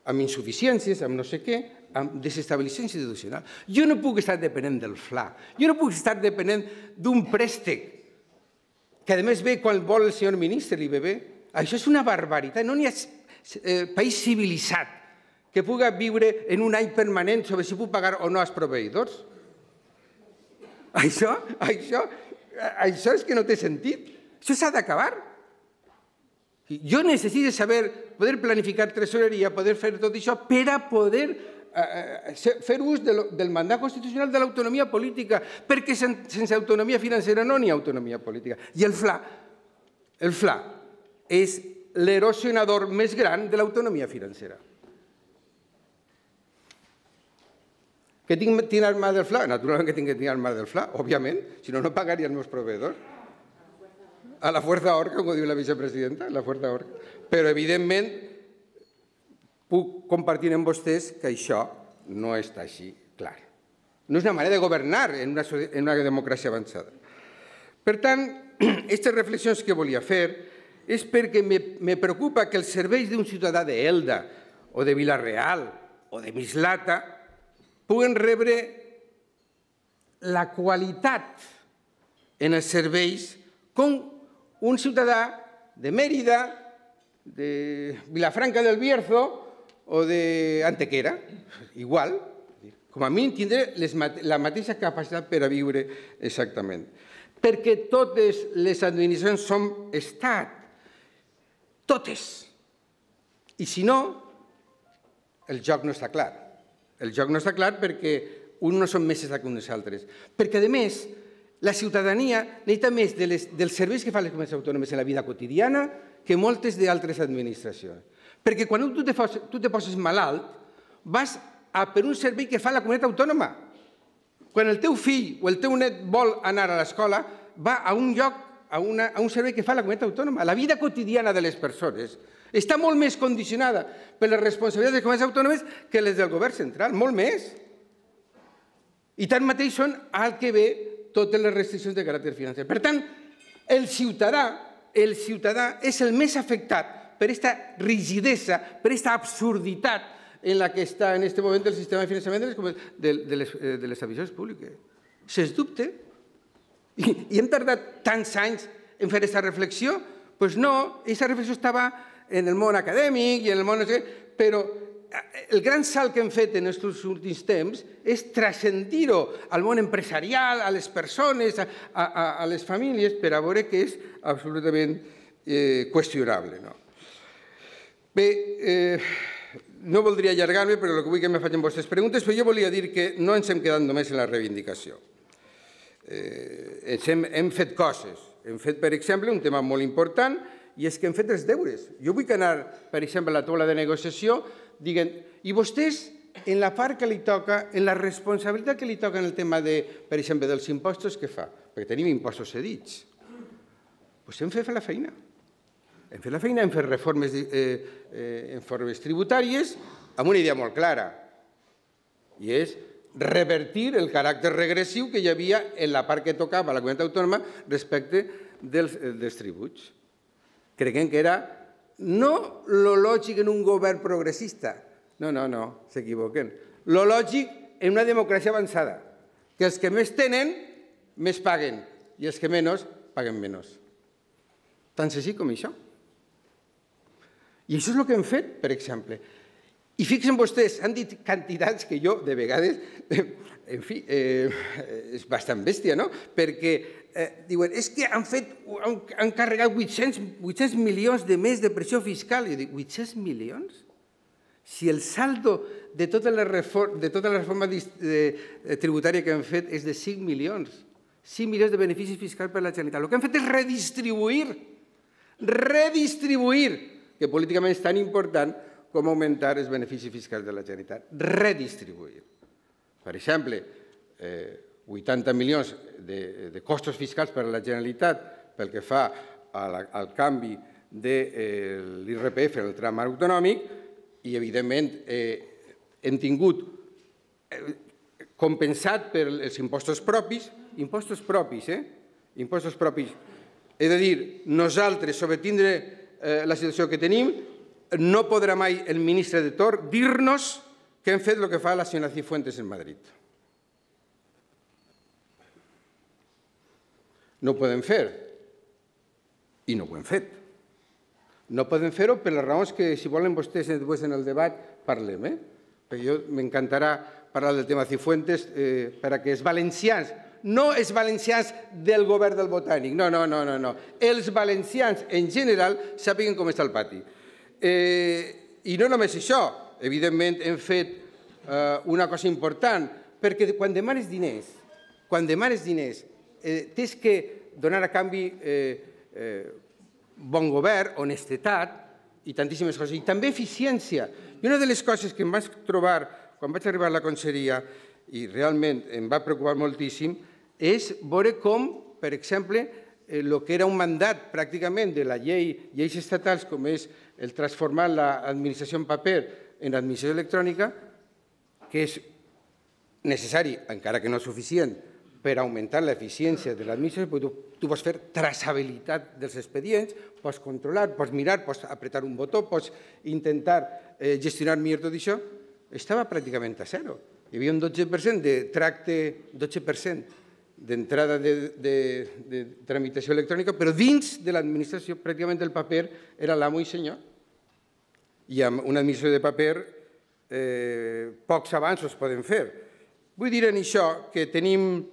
amb insuficiències, amb no sé què, amb desestabilització institucional. Jo no puc estar depenent del FLA, jo no puc estar depenent d'un préstec, que a més ve quan vol el senyor ministre, li ve bé. Això és una barbaritat, no n'hi ha país civilitzat que pugui viure en un any permanent sobre si puc pagar o no als proveïdors. Això és que no té sentit. Això s'ha d'acabar. Jo necessito saber, poder planificar tresoreria, poder fer tot això per a poder fer ús del mandat constitucional de l'autonomia política, perquè sense autonomia financera no hi ha autonomia política. I el FLA és l'erosionador més gran de l'autonomia financera. Que tinc al mar del FLA? Naturalment que tinc al mar del FLA, òbviament, si no, no pagaria els meus proveïdors. A la fuerza orca, com diu la vicepresidenta, la fuerza orca. Però, evidentment, puc compartir amb vostès que això no està així clar. No és una manera de governar en una democràcia avançada. Per tant, aquestes reflexions que volia fer és perquè me preocupa que els serveis d'un ciutadà d'Elda o de Vila-real o de Mislata puguen rebre la qualitat en els serveis com un ciutadà de Mèrida, de Vilafranca del Bierzo o d'Antequera. Igual, com a mínim tindré la mateixa capacitat per a viure exactament. Perquè totes les administracions són estat. Totes. I si no, el joc no està clar. El joc no està clar perquè uns no són més estats que uns altres. Perquè, a més, la ciutadania necessita més dels serveis que fan les comunitats autònomes en la vida quotidiana que moltes d'altres administracions. Perquè quan tu te poses malalt, vas per un servei que fa la comunitat autònoma. Quan el teu fill o el teu net vol anar a l'escola, va a un lloc, a un servei que fa la comunitat autònoma. La vida quotidiana de les persones està molt més condicionada per les responsabilitats de les comunitats autònomes que les del govern central, molt més. I tanmateix són al que ve totes les restriccions de caràcter financer. Per tant, el ciutadà és el més afectat per aquesta rigidesa, per aquesta absurditat en la que està en aquest moment el sistema de finançament de les administracions públiques. Sens dubte. I hem tardat tants anys en fer aquesta reflexió? Doncs no, aquesta reflexió estava en el món acadèmic i en el món... Però el gran salt que hem fet en aquests últims temps és transcendir-ho al món empresarial, a les persones, a les famílies, per a veure que és absolutament qüestionable. Bé, no voldria allargar-me, però el que vull que me facin vostres preguntes, però jo volia dir que no ens hem quedat només en la reivindicació. Hem fet coses. Hem fet, per exemple, un tema molt important, i és que hem fet els deures. Jo vull anar, per exemple, a la taula de negociació, dient, i vostès, en la part que li toca, en la responsabilitat que li toca en el tema, per exemple, dels impostos, què fa? Perquè tenim impostos cedits. Doncs hem fet la feina. Hem fet la feina, hem fet reformes tributàries amb una idea molt clara, i és revertir el caràcter regressiu que hi havia en la part que tocava a la comunitat autònoma respecte dels tributs. Creiem que era no lo lògic en un govern progressista, no, s'equivoquen. Lo lògic en una democràcia avançada, que els que més tenen, més paguen, i els que menys, paguen menys. Tan senzill com això. I això és el que hem fet, per exemple. I fixen vostès, han dit quantitats que jo, de vegades, en fi, és bastant bèstia, no? Perquè diuen, és que han carregat 800 milions de més de pressió fiscal. I jo dic, 800 milions? Si el saldo de tota la reforma tributària que hem fet és de 5 milions, 5 milions de beneficis fiscals per a la Generalitat. El que hem fet és redistribuir, que políticament és tan important com augmentar els beneficis fiscals de la Generalitat. Redistribuir. Per exemple, 80 milions de costos fiscals per a la Generalitat pel que fa al canvi de l'IRPF en el tram autonòmic i, evidentment, hem tingut compensat per els impostos propis, impostos propis. He de dir, nosaltres, sobre tindre la situació que tenim, no podrà mai el ministre de torn dir-nos que hem fet el que fa la senyora Cifuentes en Madrid. No ho podem fer, i no ho hem fet. No podem fer-ho per les raons que, si volen vostès, després en el debat parlem. Perquè m'encantarà parlar del tema Cifuentes perquè els valencians no els valencians del govern del Botànic, no. Els valencians en general sàpiguen com està el pati. I no només això, evidentment hem fet una cosa important, perquè quan demanes diners, tens que donar a canvi bon govern, honestedat i tantíssimes coses, i també eficiència. I una de les coses que em vaig trobar quan vaig arribar a la conselleria, i realment em va preocupar moltíssim, és veure com, per exemple, el que era un mandat pràcticament de la lleis estatals, com és el transformar l'administració en paper en administració electrònica, que és necessari, encara que no suficient, per augmentar l'eficiència de l'administració, perquè tu pots fer traçabilitat dels expedients, pots controlar, pots mirar, pots apretar un botó, pots intentar gestionar millor tot això, estava pràcticament a zero. Hi havia un 12% de tracte, 12% d'entrada de tramitació electrònica, però dins de l'administració pràcticament el paper era l'amo i senyor. I amb una administració de paper pocs avanços poden fer. Vull dir en això que tenim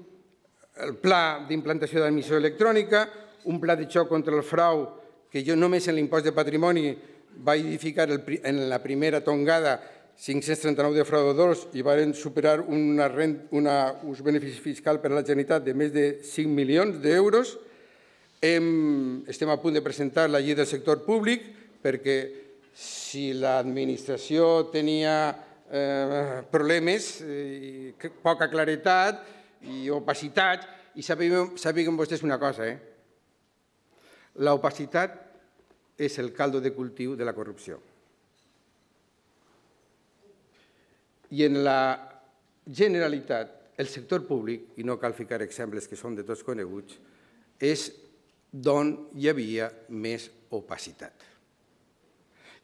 el pla d'implantació de l'administració electrònica, un pla de xoc contra el frau que jo només en l'impost de patrimoni vaig edificar en la primera tongada 539 defraudadors i van superar un benefici fiscal per a la Generalitat de més de 5 milions d'euros. Estem a punt de presentar la llei del sector públic perquè si l'administració tenia problemes, poca claretat i opacitat, i sàpiguen vostès una cosa, l'opacitat és el caldo de cultiu de la corrupció. I en la Generalitat, el sector públic, i no cal ficar exemples que són de tots coneguts, és d'on hi havia més opacitat.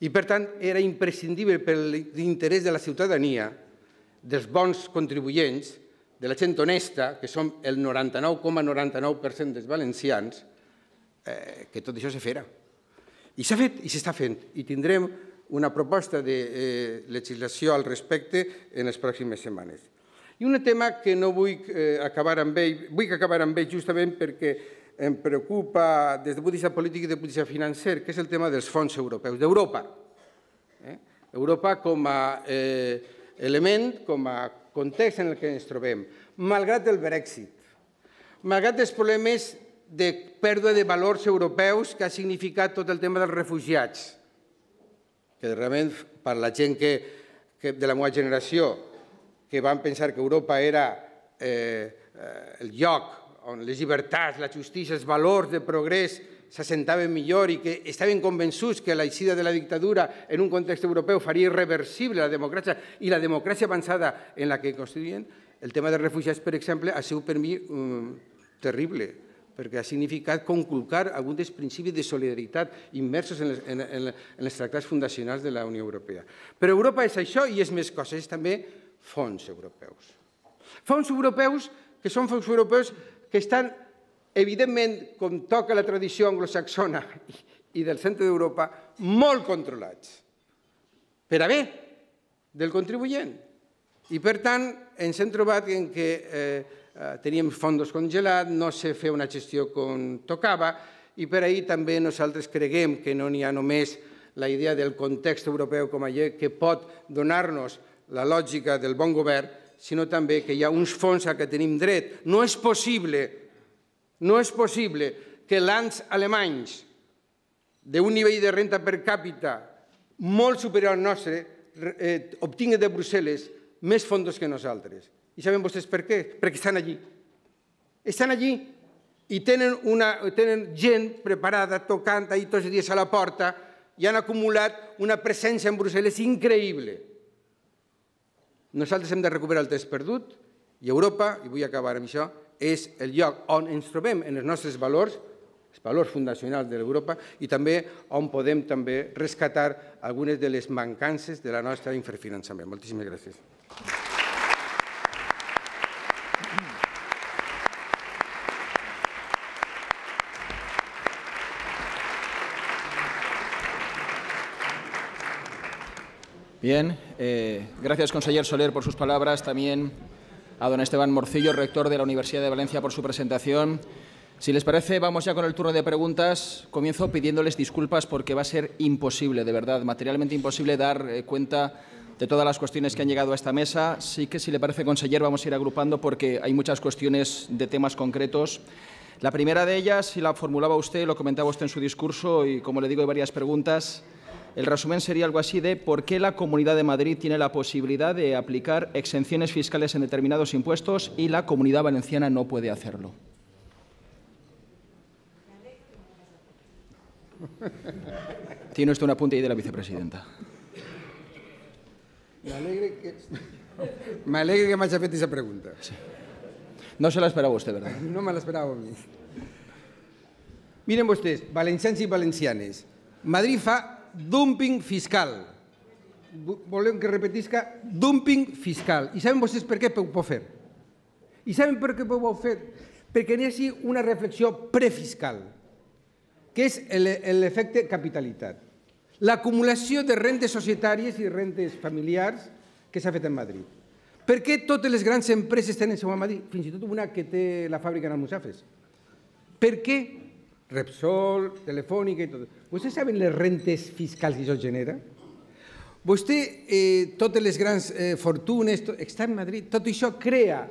I, per tant, era imprescindible per l'interès de la ciutadania, dels bons contribuents, de la gent honesta, que som el 99,99% dels valencians, que tot això se fera. I s'ha fet i s'està fent. I tindrem una proposta de legislació al respecte en les pròximes setmanes. I un tema que no vull acabar amb ell justament perquè em preocupa des del punt de vista polític i des del punt de vista financer, que és el tema dels fons europeus, d'Europa. Europa com a element, com a context en el que ens trobem, malgrat el Brexit, malgrat els problemes de pèrdua de valors europeus que ha significat tot el tema dels refugiats, que realment per la gent de la meva generació que van pensar que Europa era el lloc on les llibertats, la justícia, els valors de progrés s'assentaven millor i que estaven convençuts que l'eixida de la dictadura en un context europeu faria irreversible la democràcia i la democràcia avançada en la que constituïen, el tema dels refugiats, per exemple, ha sigut per mi terrible, perquè ha significat conculcar alguns dels principis de solidaritat immersos en els tractats fundacionals de la Unió Europea. Però Europa és això i és més coses, és també fons europeus. Fons europeus que són fons europeus que estan, evidentment, com toca la tradició anglosaxona i del centre d'Europa, molt controlats, per a bé del contribuent. I, per tant, ens hem trobat en què teníem fons congelats, no se feia una gestió com tocava, i per ahir també nosaltres creguem que no n'hi ha només la idea del context europeu com a llei que pot donar-nos la lògica del bon govern, sinó també que hi ha uns fons a què tenim dret. No és possible que lands alemanys d'un nivell de renda per càpita molt superior al nostre obtinguen de Brussel·les més fons que nosaltres. I saben vostès per què? Perquè estan allí. Estan allí i tenen gent preparada, tocant ahir tots els dies a la porta i han acumulat una presència en Brussel·les increïble. Nosaltres hem de recuperar el temps perdut i Europa, i vull acabar amb això, és el lloc on ens trobem en els nostres valors, els valors fundacionals de l'Europa, i també on podem també rescatar algunes de les mancances de la nostra infrafinançament. Moltíssimes gràcies. Bien, gracias, conseller Soler, por sus palabras. También a don Esteban Morcillo, rector de la Universidad de Valencia, por su presentación. Si les parece, vamos ya con el turno de preguntas. Comienzo pidiéndoles disculpas porque va a ser imposible, de verdad, materialmente imposible dar cuenta de todas las cuestiones que han llegado a esta mesa. Sí que, si le parece, conseller, vamos a ir agrupando porque hay muchas cuestiones de temas concretos. La primera de ellas, si la formulaba usted, lo comentaba usted en su discurso y, como le digo, hay varias preguntas. El resumen sería algo así de ¿por qué la Comunidad de Madrid tiene la posibilidad de aplicar exenciones fiscales en determinados impuestos y la Comunidad Valenciana no puede hacerlo? Tiene usted un apunte ahí de la vicepresidenta. M'alegre que m'hagi fet aquesta pregunta. Sí. No se la esperava vostè, ¿verdad? No me l'esperava a mi. Miren vostès, valencians i valencianes, Madrid fa dumping fiscal. Volem que repetisca dumping fiscal. I saben vostès per què ho pot fer? I saben per què ho pot fer? Perquè n'hi hagi una reflexió prefiscal, que és l'efecte capitalitat. L'acumulació de rentes societàries i rentes familiars que s'ha fet en Madrid. Per què totes les grans empreses tenen seu a Madrid? Fins i tot una que té la fàbrica en Almussafes. Per què? Repsol, Telefònica i tot. Vostès saben les rentes fiscals que això genera? Totes les grans fortunes, està en Madrid. Tot això crea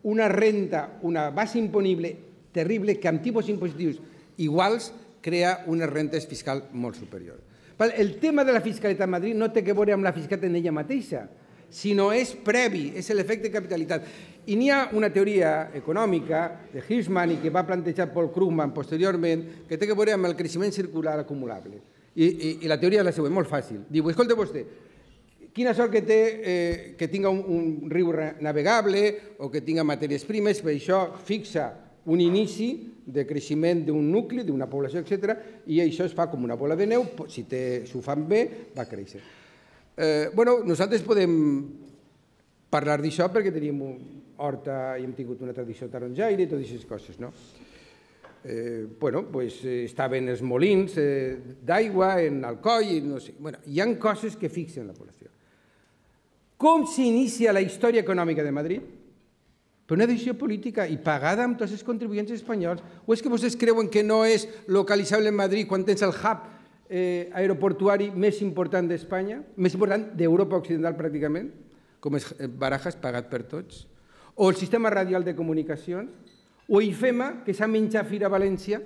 una renta, una base imponible terrible que amb tipus impositius iguals crea unes rentes fiscals molt superiors. El tema de la fiscalitat a Madrid no té a veure amb la fiscalitat en ella mateixa, sinó és previ, és l'efecte capitalitat. I n'hi ha una teoria econòmica de Hirschman i que va plantejar Paul Krugman posteriorment que té a veure amb el creixement circular acumulable. I la teoria és la següent, molt fàcil. Diu, escolta vostè, quina sort que té que tinga un riu navegable o que tinga matèries primes, per això fixa un inici de creixement d'un nucli, d'una població, etc. I això es fa com una bola de neu, si s'ho fan bé, va créixer. Nosaltres podem parlar d'això perquè tenim horta i hem tingut una tradició taronjaire i totes aquestes coses, no? Estaven els molins d'aigua en Alcoi, no sé. Hi ha coses que fixen la població. Com s'inicia la història econòmica de Madrid? Per una decisió política i pagada amb tots els contribuents espanyols. O és que vostès creuen que no és localitzable en Madrid quan tens el hub aeroportuari més important d'Espanya, més important d'Europa Occidental pràcticament, com és Barajas, pagat per tots? O el sistema radial de comunicacions? O IFEMA, que s'ha menjat fira a València,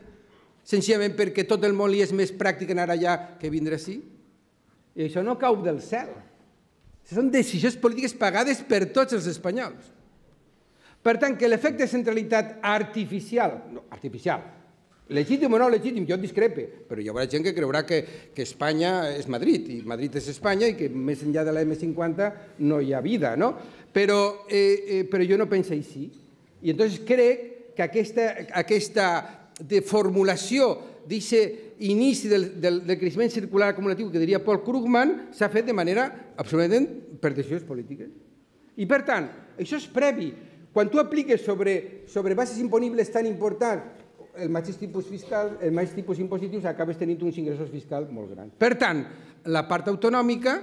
senzillament perquè tot el món li és més pràctic anar allà que vindre ací? I això no cau del cel. Són decisions polítiques pagades per tots els espanyols. Per tant, que l'efecte de centralitat artificial, legítim o no legítim, jo discrepe, però hi haurà gent que creurà que Espanya és Madrid i Madrid és Espanya i que més enllà de la M50 no hi ha vida, no? Però jo no penso així. I llavors crec que aquesta formulació d'aquest inici del creixement circular acumulatiu que diria Paul Krugman s'ha fet de manera absolutament per decisions polítiques. I per tant, això és previ. Quan tu apliques sobre bases imponibles tan importants el mateix tipus fiscal, el mateix tipus impositius, acabes tenint uns ingressos fiscals molt grans. Per tant, la part autonòmica,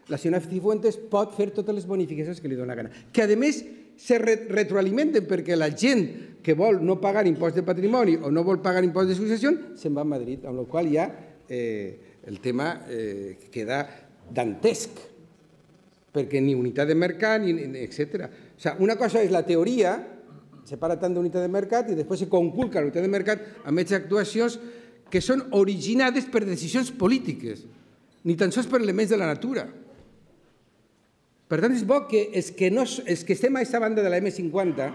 la senyora Cifuentes pot fer totes les bonificacions que li dóna gana. Que, a més, se retroalimenten perquè la gent que vol no pagar impost de patrimoni o no vol pagar impost de successió se'n va a Madrid, amb la qual ja el tema queda dantesc, perquè ni unitat de mercat, etc. O sigui, una cosa és la teoria, se para tant d'unitat de mercat i després se conculca la unitat de mercat amb aquestes actuacions que són originades per decisions polítiques, ni tan sols per elements de la natura. Per tant, és bo que els que estem a aquesta banda de la M50,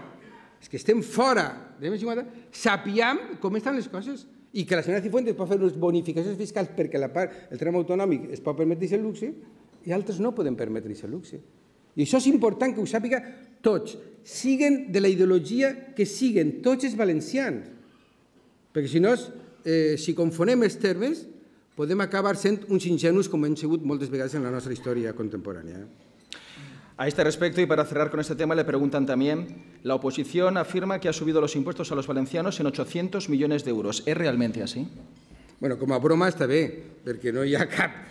els que estem fora de la M50, sapiguem com estan les coses i que la senyora Cifuentes pot fer unes bonificacions fiscals perquè el tram autonòmic es pot permetre aquest luxe i altres no poden permetre aquest luxe. I això és important que ho sàpiga tots, siguen de la ideologia que siguen tots els valencians, perquè si no, si confonem els termes, podem acabar sent uns ingenus com hem sigut moltes vegades en la nostra història contemporània. A este respecto, y para cerrar con este tema, le preguntan también, la oposición afirma que ha subido los impuestos a los valencianos en 800 millones de euros. ¿Es realmente así? Bueno, com a broma està bé, perquè no hi ha cap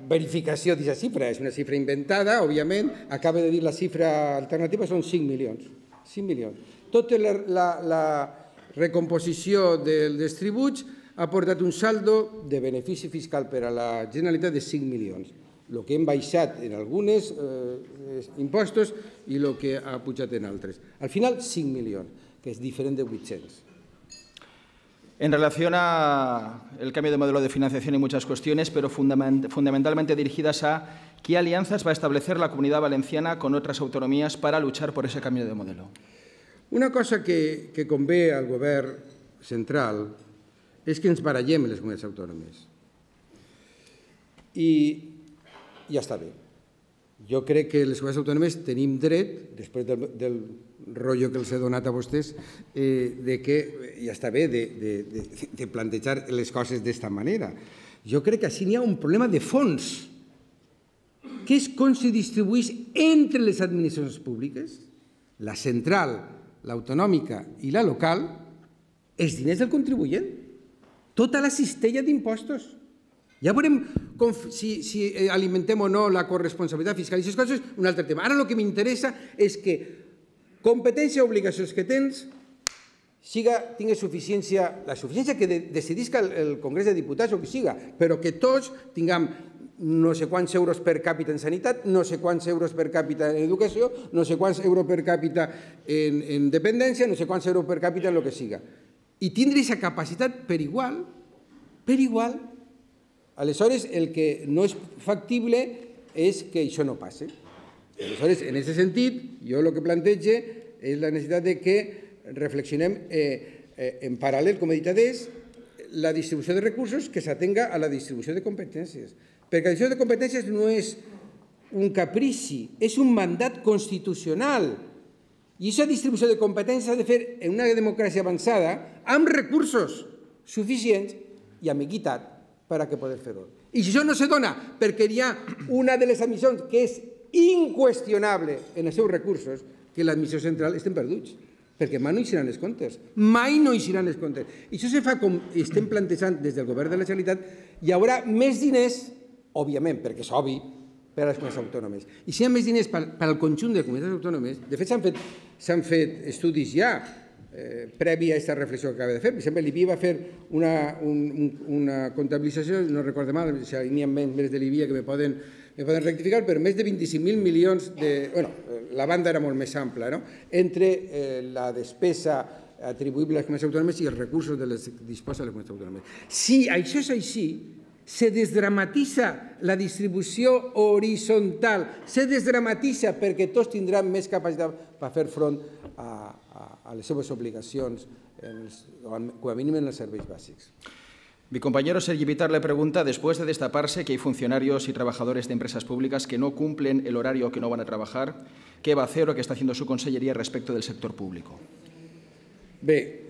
verificació d'aquesta xifra. És una xifra inventada, òbviament. Acaba de dir la xifra alternativa, són 5 milions. 5 milions. Tota la recomposició dels tributs ha portat un saldo de benefici fiscal per a la Generalitat de 5 milions. El que hem baixat en alguns impostos i el que ha pujat en altres. Al final, 5 milions, que és diferent de 800. En relación al cambio de modelo de financiación y muchas cuestiones, pero fundamentalmente dirigidas a qué alianzas va a establecer la Comunidad Valenciana con otras autonomías para luchar por ese cambio de modelo. Una cosa que convé al govern central és que ens barallem les comunitats autònomes. I ja està bé. Jo crec que les comunitats autònomes tenim dret, després del rotllo que els he donat a vostès, que ja està bé de plantejar les coses d'esta manera. Jo crec que així n'hi ha un problema de fons, que és com se distribueix entre les administracions públiques, la central, l'autonòmica i la local, els diners del contribuent, tota la cistella d'impostos. Ja veurem si alimentem o no la corresponsabilitat fiscal i aquestes coses, un altre tema. Ara el que m'interessa és que competència i obligacions que tens tingués suficiència, la suficiència que decidisca el Congrés de Diputats o que siga, però que tots tinguem no sé quants euros per càpita en sanitat, no sé quants euros per càpita en educació, no sé quants euros per càpita en dependència, no sé quants euros per càpita en el que siga. I tindre aquesta capacitat per igual, aleshores el que no és factible és que això no passi. Aleshores, en aquest sentit, jo el que plantege és la necessitat que reflexionem en paral·lel, com he dit adés, la distribució de recursos que s'atenga a la distribució de competències. Perquè la distribució de competències no és un caprici, és un mandat constitucional. I aquesta distribució de competències s'ha de fer en una democràcia avançada amb recursos suficients i amb equitat per a poder fer-ho. I si això no se dona perquè hi ha una de les administracions que és inqüestionable en els seus recursos, que l'administració central estem perduts, perquè mai no hi seran els comptes. Mai no hi seran els comptes. I això se fa com estem plantejant des del govern de la Generalitat, hi haurà més diners, òbviament, perquè és obvi, per a les comunitats autònomes. I si hi ha més diners per al conjunt de comunitats autònomes, de fet s'han fet estudis ja, previ a aquesta reflexió que acaba de fer. Per exemple, l'IBI va fer una comptabilització, no recordo mal, si n'hi ha membres de l'IBI que me poden rectificar, però més de 25.000 milions bueno, la banda era molt més ampla, no? Entre la despesa atribuïble a les comunitats autònomes i els recursos de les que disposa les comunitats autònomes. Si això és així, se desdramatitza la distribució horitzontal, se desdramatitza perquè tots tindran més capacitat per fer front a les seves obligacions, com a mínim en els serveis bàsics. Mi compañero Sergi Vitar le pregunta, después de destaparse que hay funcionarios y trabajadores de empresas públicas que no cumplen el horario o que no van a trabajar, ¿qué va a hacer o qué está haciendo su conselleria respecto del sector público? Bé,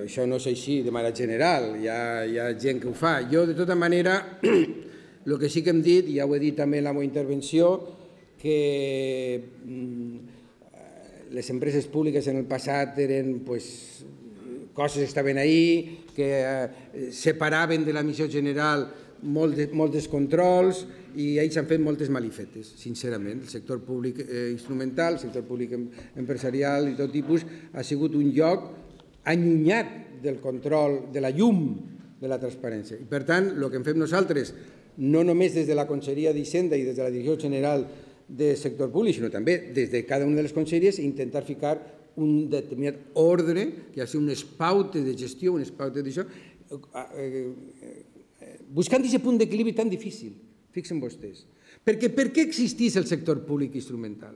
això no és així de manera general, hi ha gent que ho fa. Jo, de tota manera, el que sí que hem dit, i ja ho he dit també en la meva intervenció, que les empreses públiques en el passat eren coses que estaven ahí, que separaven de la missió general molts controls i ells han fet moltes malifetes, sincerament. El sector públic instrumental, el sector públic empresarial i tot tipus ha sigut un lloc allunyat del control, de la llum de la transparència. I per tant, el que hem fet nosaltres, no només des de la Conselleria d'Hisenda i des de la Direcció General del Sector Públic, sinó també des de cada una de les conselleries, intentar ficar un determinat ordre, que ha de ser unes pautes de gestió, unes pautes d'això, buscant aquest punt d'equilibri tan difícil, fixen vostès. Perquè per què existeix el sector públic instrumental?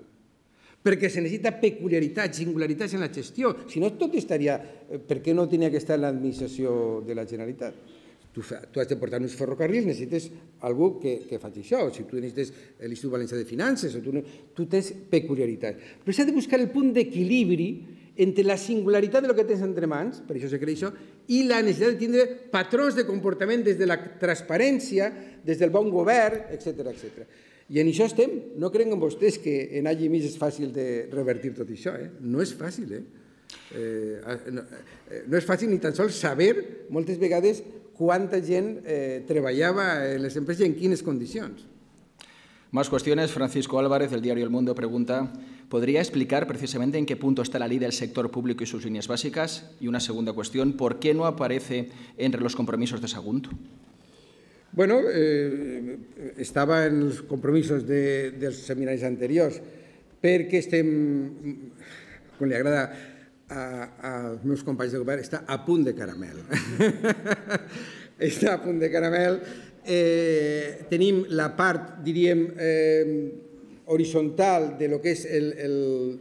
Perquè se necessita peculiaritats, singularitats en la gestió. Si no, tot estaria... Per què no tenia que estar en l'administració de la Generalitat? Tu has de portar uns ferrocarrils, necessites algú que faci això. Si tu necessites l'Institut Valencià de Finances, tu tens peculiaritats. Però s'ha de buscar el punt d'equilibri entre la singularitat del que tens entre mans, per això se crea això, i la necessitat de tindre patrons de comportament des de la transparència, des del bon govern, etc. I en això estem. No creuen vostès que en any i mig és fàcil de revertir tot això. No és fàcil. No és fàcil ni tan sols saber, moltes vegades, quanta gent treballava en les empreses i en quines condicions. Más cuestiones. Francisco Álvarez, del diario El Mundo, pregunta: ¿podría explicar precisamente en qué punto está la ley del sector público y sus líneas básicas? Y una segunda cuestión: ¿por qué no aparece entre los compromisos de Sagunto? Bueno, estava en els compromisos dels seminaris anteriors, perquè estem, com li agrada als meus companys de govern, està a punt de caramel. Està a punt de caramel. Tenim la part, diríem, horitzontal de lo que és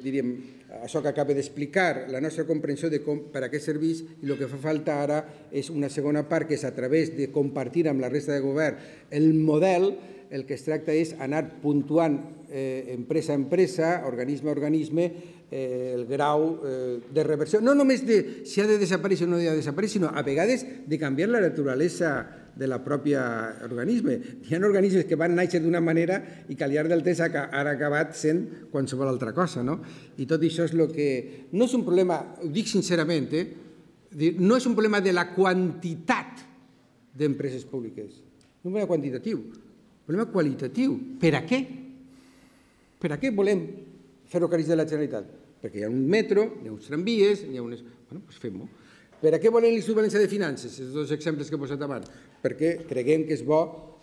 diríem, això que acaba d'explicar, la nostra comprensió de per a què serveix, i el que fa falta ara és una segona part, que és a través de compartir amb la resta de govern el model. El que es tracta és anar puntuant empresa a empresa, organisme a organisme, el grau de reversió, no només de si ha de desaparèixer o no ha de desaparèixer, sinó a vegades de canviar la naturalesa de la pròpia organisme. Hi ha organismes que van néixer d'una manera i que al llarg del temps han acabat sent qualsevol altra cosa. I tot això és el que... No és un problema, ho dic sincerament, no és un problema de la quantitat d'empreses públiques, no és un problema quantitatiu, un problema qualitatiu. Per a què? Per a què volem ferrocarrils de la Generalitat? Perquè hi ha un metro, hi ha uns tramvies, hi ha unes... Bueno, doncs fem-ho. Per a què volem l'Institut Valencià de Finances? Els dos exemples que he posat abans. Perquè creguem que és bo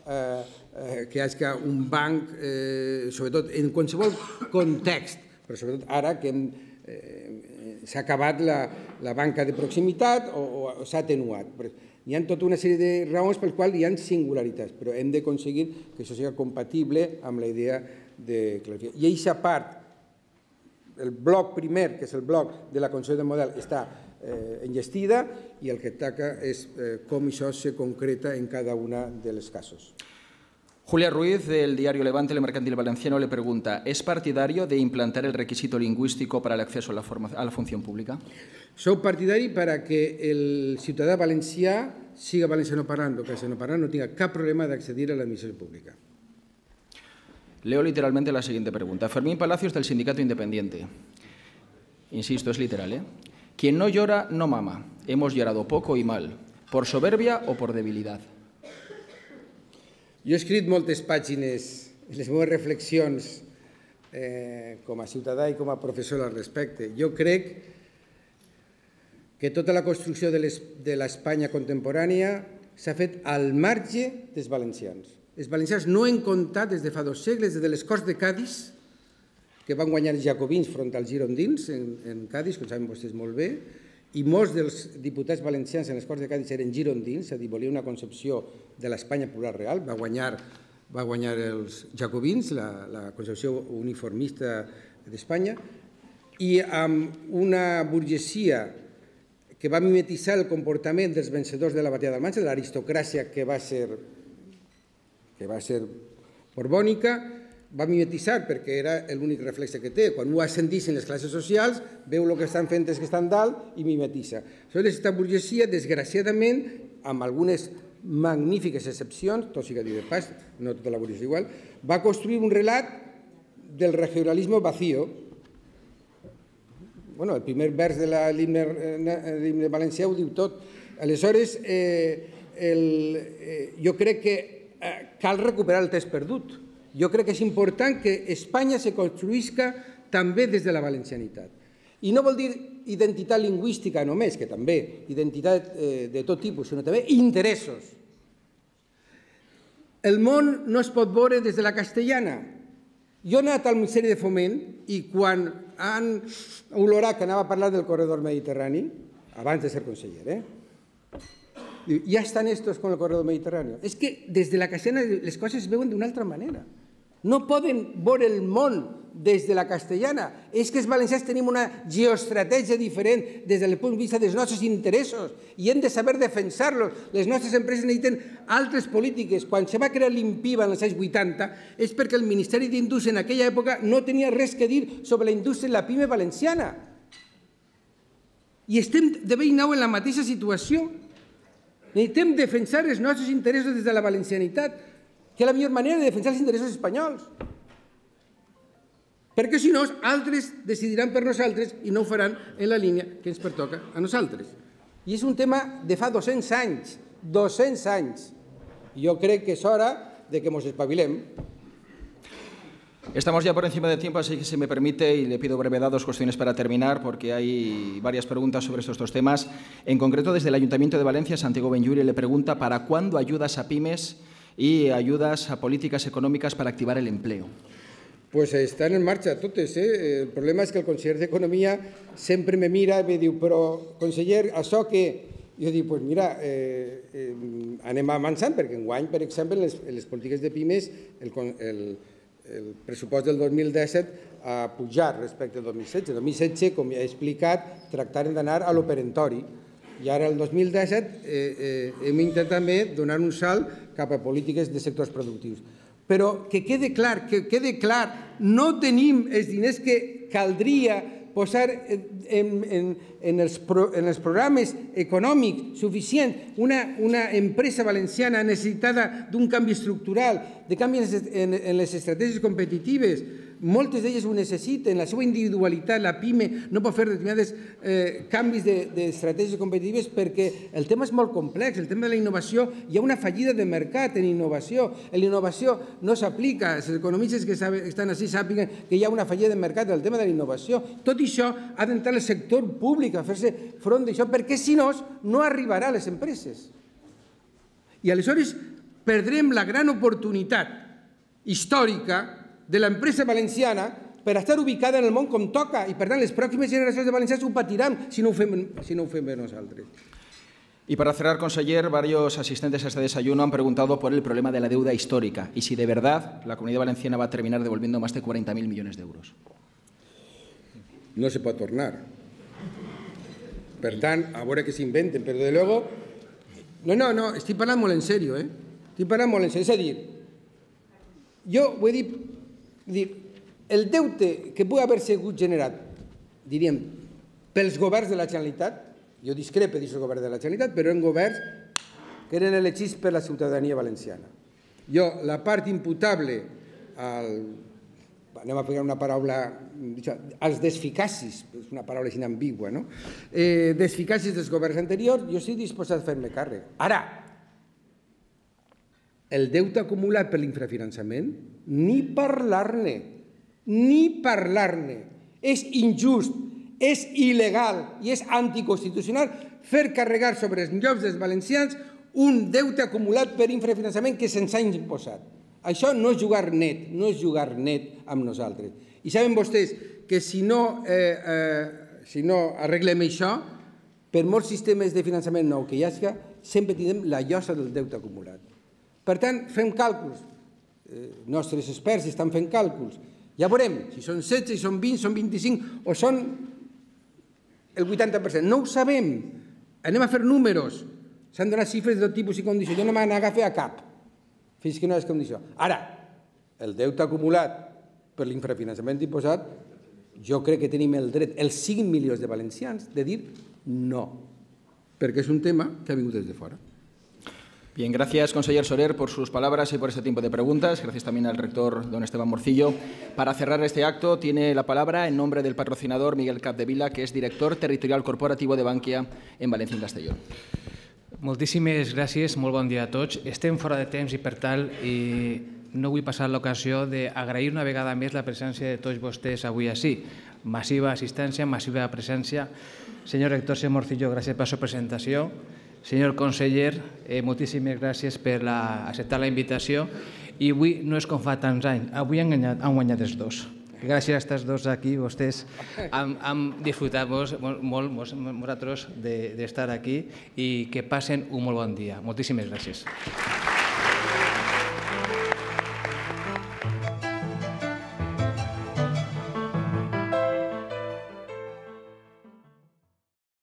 que hi hagi un banc, sobretot en qualsevol context, però sobretot ara que s'ha acabat la banca de proximitat o s'ha atenuat. Hi ha tota una sèrie de raons per les quals hi ha singularitats, però hem d'aconseguir que això sigui compatible amb la idea de clarificar. I aquesta part, el bloc primer, que és el bloc de la construcció del model, està enllestida i el que toca és com això se concreta en cada una de les casos. Julia Ruiz, del diario Levante, El Mercantil Valenciano, le pregunta: ¿es partidario de implantar el requisito lingüístico para el acceso a la función pública? Soc partidari perquè el ciutadà valencià siga valencianoparlant o castellanoparlant no tenga cap problema d'accedir a l'administració pública. Leo literalmente la siguiente pregunta. Fermín Palacios, del Sindicato Independiente. Insisto, es literal, ¿eh? Quien no llora, no mama. Hemos llorado poco y mal. ¿Por soberbia o por debilidad? Jo he escrit moltes pàgines, les meves reflexions com a ciutadà i com a professor al respecte. Jo crec que tota la construcció de l'Espanya contemporània s'ha fet al marge dels valencians. Els valencians no han comptat des de fa 2 segles, des de les Corts de Cadis, que van guanyar els jacobins front als girondins en Cadis, com saben vostès molt bé, i molts dels diputats valencians en les Corts de Cadis eren girondins, és a dir, volia una concepció de l'Espanya plural real, va guanyar els jacobins, la concepció uniformista d'Espanya, i amb una burgesia que va mimetitzar el comportament dels vencedors de la batalla d'Almansa, de l'aristocràcia que va ser borbònica, va mimetitzar perquè era l'únic reflexe que té. Quan ho ascendissin les classes socials, veu el que estan fent els que estan dalt i mimetitza. Aleshores, aquesta burgesia, desgraciadament, amb algunes magnífiques excepcions, tot sigui dit de pas, no tota la burgesia igual, va construir un relat del regionalisme vacío. Bueno, el primer vers de l'himne valencià ho diu tot. Aleshores, jo crec que cal recuperar el temps perdut. Jo crec que és important que Espanya se construïsca també des de la valencianitat. I no vol dir identitat lingüística només, que també, identitat de tot tipus, sinó també interessos. El món no es pot veure des de la castellana. Jo he anat al Ministeri de Foment i quan han olorat que anava a parlar del corredor mediterrani, abans de ser conseller, ja estan estos con el corredor mediterrani. És que des de la castellana les coses es veuen d'una altra manera. No poden veure el món des de la castellana. És que els valencians tenim una geoestratègia diferent des del punt de vista dels nostres interessos i hem de saber defensar-los. Les nostres empreses necessiten altres polítiques. Quan se va crear l'INPIVA en els anys 80 és perquè el Ministeri d'Indústria en aquella època no tenia res que dir sobre la indústria i la pime valenciana. I estem de bell nou en la mateixa situació. Necessitem defensar els nostres interessos des de la valencianitat, que és la millor manera de defensar els interessos espanyols. perquè si no, altres decidiran per nosaltres i no ho faran en la línia que ens pertoca a nosaltres. I és un tema de fa 200 anys, 200 anys. Jo crec que és hora de que ens espavilem. Estamos ya por encima de tiempo, así que si me permite, y le pido brevedad, 2 cuestiones para terminar, porque hay varias preguntas sobre estos 2 temas. En concreto, desde el Ayuntamiento de Valencia, Santiago Benlluri le pregunta ¿para cuándo ayudas a pymes y ayudas a políticas econòmiques per activar el empleo? Pues estan en marxa totes. El problema és que el conseller d'Economia sempre me mira i me diu però, conseller, això que... Jo dic, doncs mira, anem avançant, perquè enguany, per exemple, les polítiques de pimes, el pressupost del 2017 ha pujat respecte al 2016. El 2016, com ja he explicat, tractaren d'anar a l'operentori. I ara, el 2017, hem intentat també donar un salt cap a polítiques de sectors productius. Però que quede clar, no tenim els diners que caldria posar en els programes econòmics suficients. Una empresa valenciana necessitada d'un canvi estructural, de canvis en les estratègies competitives, moltes d'elles ho necessiten, la seva individualitat, la PIME no pot fer determinats canvis d'estratègies competitives perquè el tema és molt complex, el tema de la innovació, hi ha una fallida de mercat en innovació, la innovació no s'aplica, els economistes que estan així sàpiguen que hi ha una fallida de mercat en el tema de la innovació. Tot això ha d'entrar el sector públic a fer-se front d'això perquè si no, no arribarà a les empreses. I aleshores perdrem la gran oportunitat històrica de l'empresa valenciana per estar ubicada en el món com toca i, per tant, les pròximes generacions de valencians ho patiran si no ho fem bé nosaltres. Y para cerrar, conseller, varios asistentes a este desayuno han preguntado por el problema de la deuda histórica y si de verdad la Comunidad Valenciana va a terminar devolviendo más de 40.000 millones de euros. No se pot tornar. Per tant, a veure què s'inventen, però de luego... No, estic parlant molt en sèrio, Estic parlant molt en sèrio. És a dir, jo ho he dit, el deute que pugui haver sigut generat, diríem, pels governs de la Generalitat, jo discrepo d'aquest govern de la Generalitat, però eren governs que eren elegits per la ciutadania valenciana. Jo, la part imputable anem a ficar una paraula, als desficacis, és una paraula així ambigua, no? Desficacis dels governs anteriors, jo estic disposat a fer-me càrrec. Ara, el deute acumulat per l'infrafinançament, ni parlar-ne, És injust, és il·legal i és anticonstitucional fer carregar sobre els llocs dels valencians un deute acumulat per infrafinançament que se'ns ha imposat. Això no és jugar net, amb nosaltres. I saben vostès que si no arreglem això, per molts sistemes de finançament nou que hi hagi, sempre tindrem la llosa del deute acumulat. Per tant, fem càlculs. Nostres experts estan fent càlculs. Ja veurem si són 16, si són 20, són 25 o són el 80%. No ho sabem. Anem a fer números. S'han donat xifres de tot tipus i condició. Jo no me n'agafe a cap fins que no és condició. Ara, el deute acumulat per l'infrafinançament imposat, jo crec que tenim el dret, els 5 milions de valencians, de dir no, perquè és un tema que ha vingut des de fora. Bien, gracias, conseller Soler, por sus palabras y por este tiempo de preguntas. Gracias también al rector, don Esteban Morcillo. Para cerrar este acto, tiene la palabra en nombre del patrocinador Miguel Capdevila, que es director territorial corporativo de Bankia en València i Castelló. Moltíssimes gràcies, molt bon dia a tots. Estem fora de temps i, per tal, no vull passar l'ocasió d'agrair una vegada més la presència de tots vostès avui així. Massiva assistència, massiva presència. Senyor rector Morcillo, gràcies per la seva presentació. Senyor conseller, moltíssimes gràcies per acceptar la invitació i avui no és com fa tants anys, avui han guanyat els dos. Gràcies a aquests dos aquí, vostès han disfrutat molt vosaltres d'estar aquí i que passen un molt bon dia. Moltíssimes gràcies.